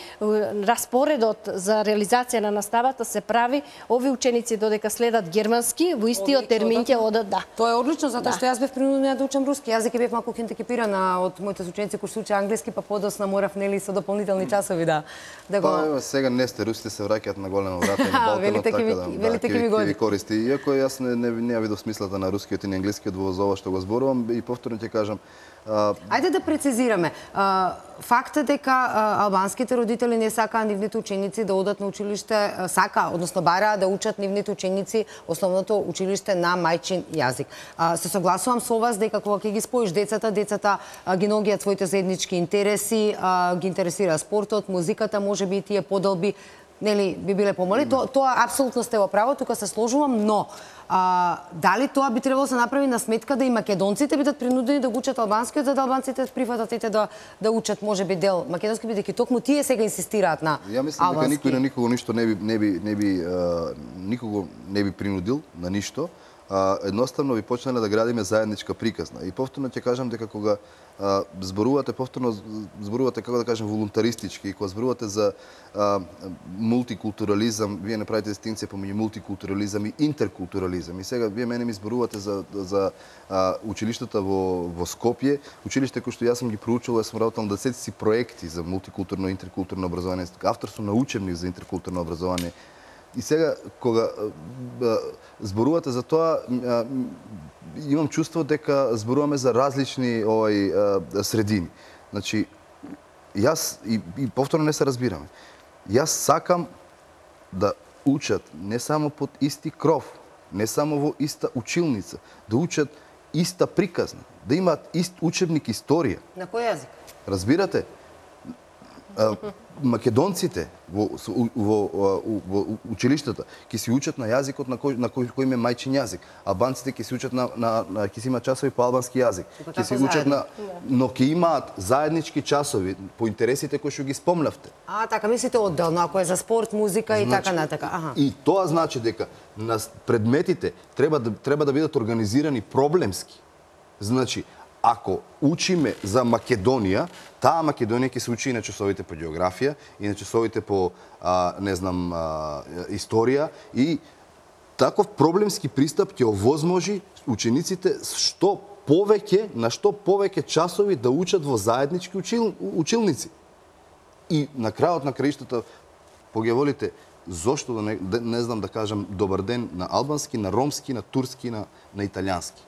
распоредот за реализација на наставата се прави, овие ученици додека следат германски, во истиот термин ќе одат, да.
Тоа е одлично, затоа
да.
што јас бев принудена да учам руски јазик и бев малку хендикепирана од моите ученици кои се учат англиски, па подосна морав нели со дополнителни часови да да го.
Па сега не сте русите се враќаат на голема врата на Балканот, така да.
Велите ке ми годи.
Користи. Иако јас не не, не видов смислата на рускиот и на англискиот во ова што го зборувам и повторно ќе кажам.
Uh, Ајде да прецизираме. Uh, факт е дека uh, албанските родители не сакаат нивните ученици да одат на училиште, uh, сака, односно бараа да учат нивните ученици основното училиште на мајчин јазик. Uh, се согласувам со вас дека кога ќе ги споиш децата, децата uh, ги ногиат своите заеднички интереси, uh, ги интересира спортот, музиката, можеби и тие поделби нели би биле помали. Тоа, тоа апсолутно сте во право, тука се сложувам, но а, дали тоа би требало да се направи на сметка да и македонците бидат принудени да го учат албанскиот, за да албанците прифатат ете да да учат можеби дел македонски, бидејќи токму тие сега инсистираат на албански.
Ја мислам дека никој на никого ништо не би не би не би а, никого не би принудил на ништо. А, едноставно би почнале да градиме заедничка приказна. И повторно ќе кажам дека кога а, зборувате, повторно зборувате, како да кажем, волунтаристички, и кога зборувате за а, мултикултурализам, вие не правите дистинција помеѓу мултикултурализам и интеркултурализам. И сега вие мене ми зборувате за за а, училиштата во во Скопје, училиште кои што јас сум ги проучувал, јас сум работел на десетици проекти за мултикултурно и интеркултурно образование, автор сум на учебник за интеркултурно образование. И сега, кога а, зборувате за тоа, а, имам чувство дека зборуваме за различни овај а, средини. Значи, јас, и, и повторно не се разбираме, јас сакам да учат не само под исти кров, не само во иста училница, да учат иста приказна, да имаат ист учебник историја.
На кој јазик?
Разбирате? Македонците во, во, во, во училиштата ќе се учат на јазикот на кој на кој, кој им е мајчин јазик. Албанците ќе се учат на, на, на ќе се имаат часови по албански јазик. Ќе се учат на, но ќе имаат заеднички часови по интересите кои што ги спомнавте.
А, така мислите одделно, ако е за спорт, музика и
значи,
така натака. Аха.
И тоа значи дека на предметите треба да треба да бидат организирани проблемски. Значи, ако учиме за Македонија, таа Македонија ќе се учи и на часовите по географија, и на часовите по, а, не знам, а, историја, и таков проблемски пристап ќе овозможи учениците што повеќе, на што повеќе часови да учат во заеднички учил, училници. И на крајот на краиштата, погеволите, зошто да не, не знам да кажам добар ден на албански, на ромски, на турски, на, на италијански.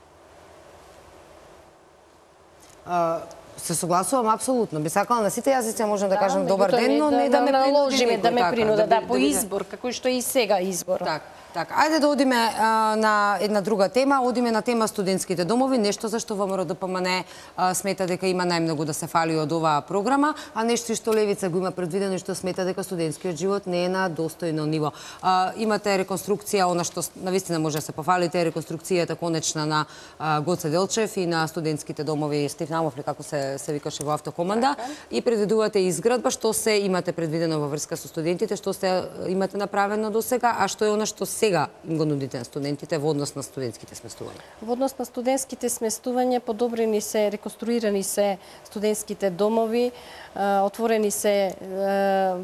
А, се согласувам апсолутно. Би сакала на сите јазици можам да, да кажам добар ден, но не да,
да
ме
наложиме, да ме
така,
принуда,
да,
да, по избор, како што и сега избор.
Так, так. Ајде да одиме а, на една друга тема, одиме на тема студентските домови, нешто за што ВМРО-ДПМН смета дека има најмногу да се фали од оваа програма, а нешто што Левица го има предвидено и што смета дека студентскиот живот не е на достојно ниво. А, имате реконструкција, она што навистина може да се пофалите, реконструкцијата конечна на а, Гоце Делчев и на студентските домови Стефнамов, како се се викаше во автокоманда, и предвидувате изградба, што се имате предвидено во врска со студентите, што се имате направено до сега, а што е она што сега им го нудите на студентите во однос на студентските сместувања?
Во однос на студентските сместувања, подобрени се, реконструирани се студентските домови, отворени се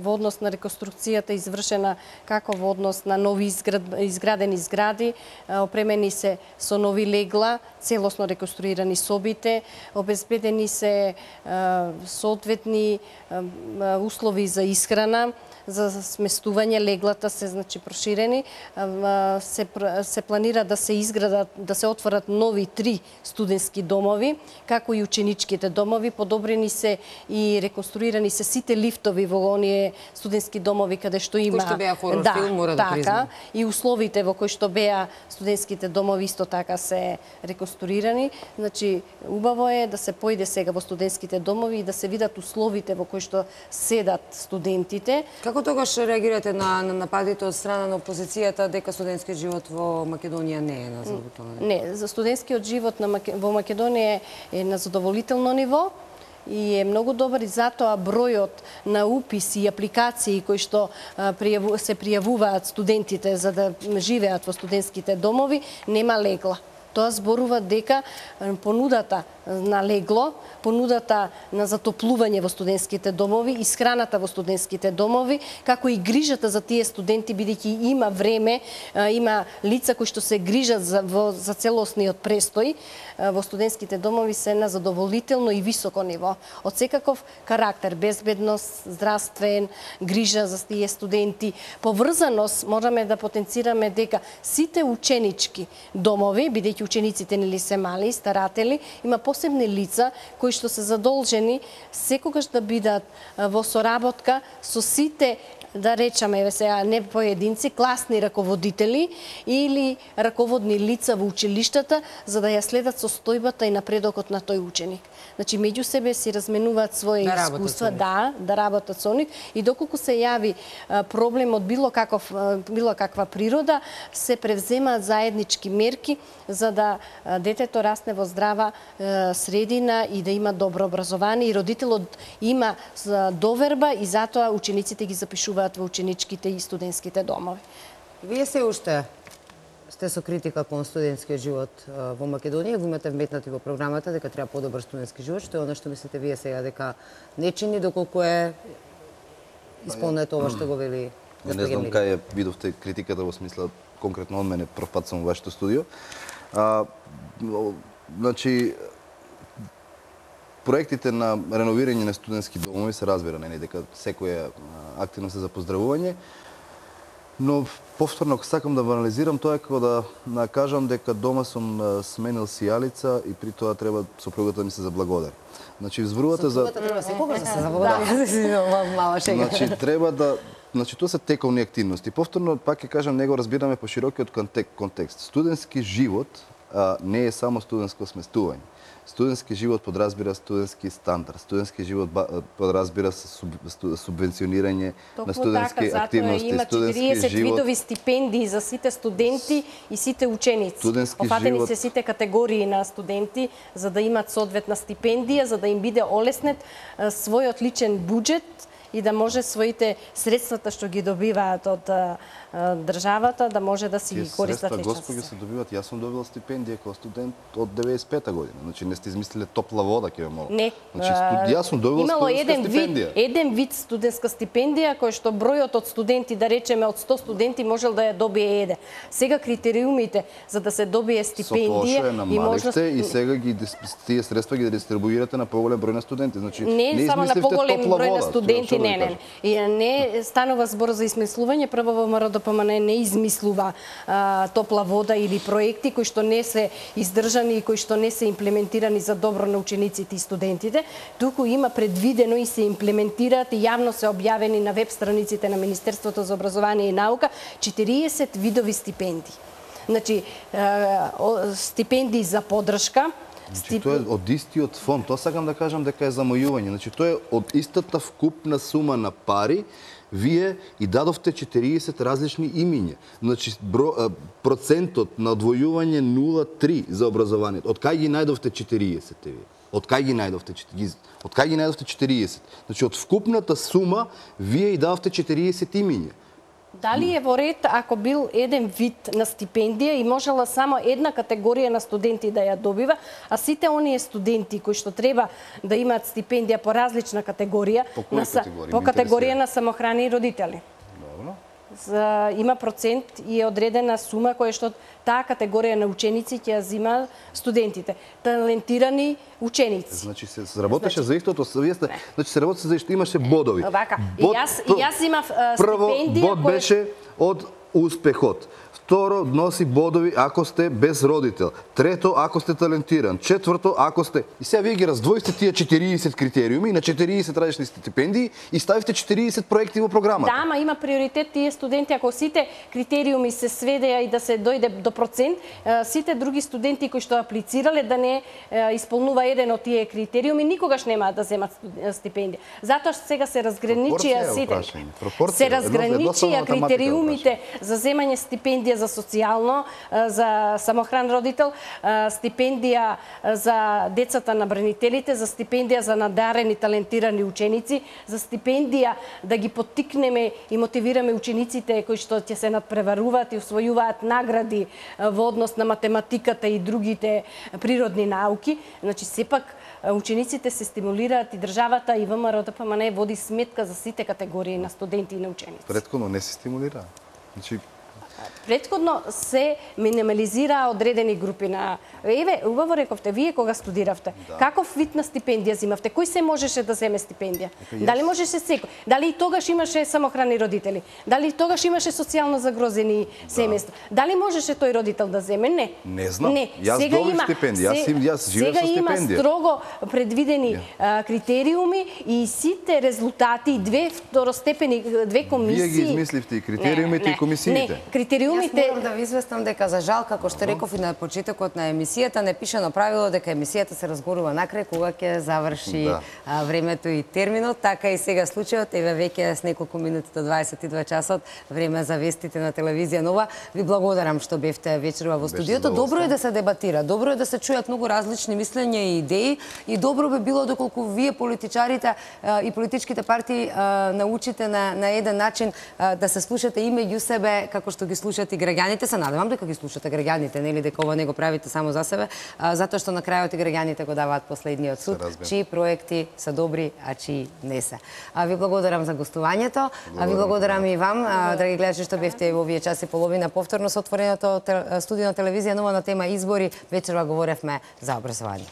во однос на реконструкцијата извршена како во однос на нови изград, изградени згради, опремени се со нови легла, целосно реконструирани собите, обезбедени се соодветни услови за исхрана, за сместување, леглата се значи проширени, се се планира да се изградат, да се отворат нови три студентски домови, како и ученичките домови, подобрени се и реконструирани се сите лифтови во оние студентски домови каде што има
кои што беа хорор
да,
филм, мора да
така,
признам.
И условите во кои што беа студентските домови исто така се реконструирани. Значи убаво е да се поиде сега во студентските домови и да се видат условите во кои што седат студентите.
Како тогаш реагирате на, на нападите од страна на опозицијата дека студентскиот живот во Македонија не е на задоволително ниво?
Не, за студентскиот живот на Маке... во Македонија е на задоволително ниво и е многу добар, и затоа бројот на уписи и апликации кои што се пријавуваат студентите за да живеат во студентските домови нема легла. Тоа зборува дека понудата на легло, понудата на затоплување во студентските домови, исхраната во студентските домови, како и грижата за тие студенти, бидејќи има време, има лица кои што се грижат за, во, за целосниот престој во студентските домови се на задоволително и високо ниво. Од секаков карактер, безбедност, здравствен, грижа за тие студенти, поврзаност, можеме да потенцираме дека сите ученички домови, бидејќи учениците нели се мали, старатели, има посебни лица кои што се задолжени секогаш да бидат во соработка со сите, да речеме сега не поединци, класни раководители или раководни лица во училиштата за да ја следат состојбата и напредокот на тој ученик. Значи меѓу себе си разменуваат своји
да
искуства, да, да работат со нив и доколку се јави проблем од било каков било каква природа, се превземаат заеднички мерки за да детето расне во здрава средина и да има добро образование и родителот има доверба и затоа учениците ги запишуваат во ученичките и студентските домови.
Вие се уште сте со критика кон студентскиот живот во Македонија, го имате вметнати во програмата дека треба подобар студентски живот, што е оно што мислите вие сега дека не чини доколку е исполнето ова што го вели
Не знам кај видовте критиката во смисла конкретно од мене, прв пат сум во вашето студио. А, значи, проектите на реновирање на студентски домови се разбира, не дека секоја активност е за поздравување, но повторно сакам да анализирам тоа како да кажам дека дома сум сменил сијалица и при тоа треба сопругата ми се заблагодари. Значи зборувате за
треба секогаш да се заблагодари. Мала шега.
Значи треба да значи тоа се тековни активности. Повторно пак ќе кажам, него разбираме по широкиот контекст. Студентски живот а, не е само студентско сместување. Студентски живот подразбира студентски стандард. Студентски живот подразбира субвенционирање на студентски
така,
активности.
Има четириесет живот... видови стипендии за сите студенти и сите ученици. Офатени живот... се сите категории на студенти за да имат соодветна стипендија, за да им биде олеснет својот личен буџет и да може своите средствата што ги добиваат од а, државата да може да си ги користат лично.
Господи, се добиваат. Јас сум добил стипендија како студент од деветдесет и пета година. Значи не сте измислиле топла вода, ќе ве молам.
Не.
Значи студ... јас сум добил
имало
студентска
еден
стипендија.
Вид, еден вид студентска стипендија кој што бројот од студенти, да речеме од сто студенти, можел да ја добие еден. Сега критериумите за да се добие стипендија
и можност и сега ги тие средства ги дистрибуирате на поголем број на студенти. Значи
не,
не
само на поголем број
вода,
на студенти, не, не. И не станува збор за измислување, прво ВМРО-ДПМН не измислува а, топла вода или проекти кои што не се издржани и кои што не се имплементирани за добро на учениците и студентите, туку има предвидено и се имплементираат и јавно се објавени на веб страниците на Министерството за образование и наука четириесет видови стипендии. Значи, а, стипендии за поддршка.
Значи, тоа е од истиот фонд. Тоа сакам да кажам дека е замојување. Значи, тоа е од истата вкупна сума на пари, вие и дадовте четириесет различни имиња. Значи, бро, процентот на одвојување нула целу три за образованието. Од кај ги најдовте четириесет вие? Од кај ги најдовте? Од кај ги најдовте четириесет? Значи, од вкупната сума, вие и дадовте четириесет имиња.
Дали е во ред ако бил еден вид на стипендија и можела само една категорија на студенти да ја добива, а сите оние студенти кои што треба да имаат стипендија по различна категорија,
по, на, категорија?
по категорија на самохрани и родители.
Добро.
За, има процент и е одредена сума која што таа категорија на ученици ќе ја зима студентите. Талентирани ученици.
Значи се работеше значи, за истото, вие сте, значи се работеше за истото, имаше бодови.
Вака,
Бод,
и јас и јас имав стипендија
прво бод
кој...
беше од успехот. Второ, носи бодови ако сте без родител. Трето, ако сте талентиран. Четврто, ако сте... И сега вие ги раздвоите тие четириесет критериуми на четириесет различни стипендии и ставите четириесет проекти во програмата.
Да, ама има приоритет тие студенти, ако сите критериуми се сведеа и да се дојде до процент, сите други студенти кои што аплицирале да не исполнува еден од тие критериуми, никогаш нема да земат стипендија. Затоа што сега се разграничија сите. Се разграничија критериумите за земање стипендија за социјално, за самохран родител, стипендија за децата на бранителите, за стипендија за надарени, талентирани ученици, за стипендија да ги поттикнеме и мотивираме учениците кои што ќе се надпреваруваат и усвојуваат награди во однос на математиката и другите природни науки. Значи, сепак учениците се стимулираат и државата и ВМРО-ДПМН води сметка за сите категории на студенти и на ученици.
Претходно не се стимулира. Значи,
Претходно се минимализираа одредени групи на... Еве, убаво рековте, вие кога студиравте, да. Каков вид на стипендија зимавте? Кој се можеше да земе стипендија? Ека, Дали можеше секој? Дали и тогаш имаше самохрани родители? Дали и тогаш имаше социјално загрозени да. семејства? Дали можеше тој родител да земе? Не.
Не знам.
Не.
Јас
сега
добив
има,
стипендија. Јас, јас живеев со стипендија.
Сега има строго предвидени yeah. критериуми и сите резултати, две второстепени, две комисии...
Вие ги измисливте и критериумите и комисиите.
Не, критериумите...
Јас морам да ви известам дека за жал, како што реков и на почетокот на емисијата, не пише на правило дека емисијата се разгорува накрај кога ќе заврши да. а, времето и терминот, така и сега случајот, еве веќе с неколку минути до дваесет и два часот, време за вестите на телевизија Нова. Ви благодарам што бевте вечерва во студиото. Добро е да се дебатира, добро е да се чујат многу различни мислења и идеи и добро би било доколку вие политичарите а, и политичките партии а, научите на, на еден начин а, да се слушате и меѓу себе како што ги слушате и граѓаните. Се надевам дека ги слушате граѓаните, нели дека ова не го правите само за себе, а, затоа што на крајот и граѓаните го даваат последниот суд, чии проекти се добри, а чии не се. А ви благодарам за гостувањето, а ви благодарам и вам, а, драги гледачи, што бевте во овие час и половина повторно со отвореното студио на телевизија Нова на тема избори. Вечерва говоревме за образование.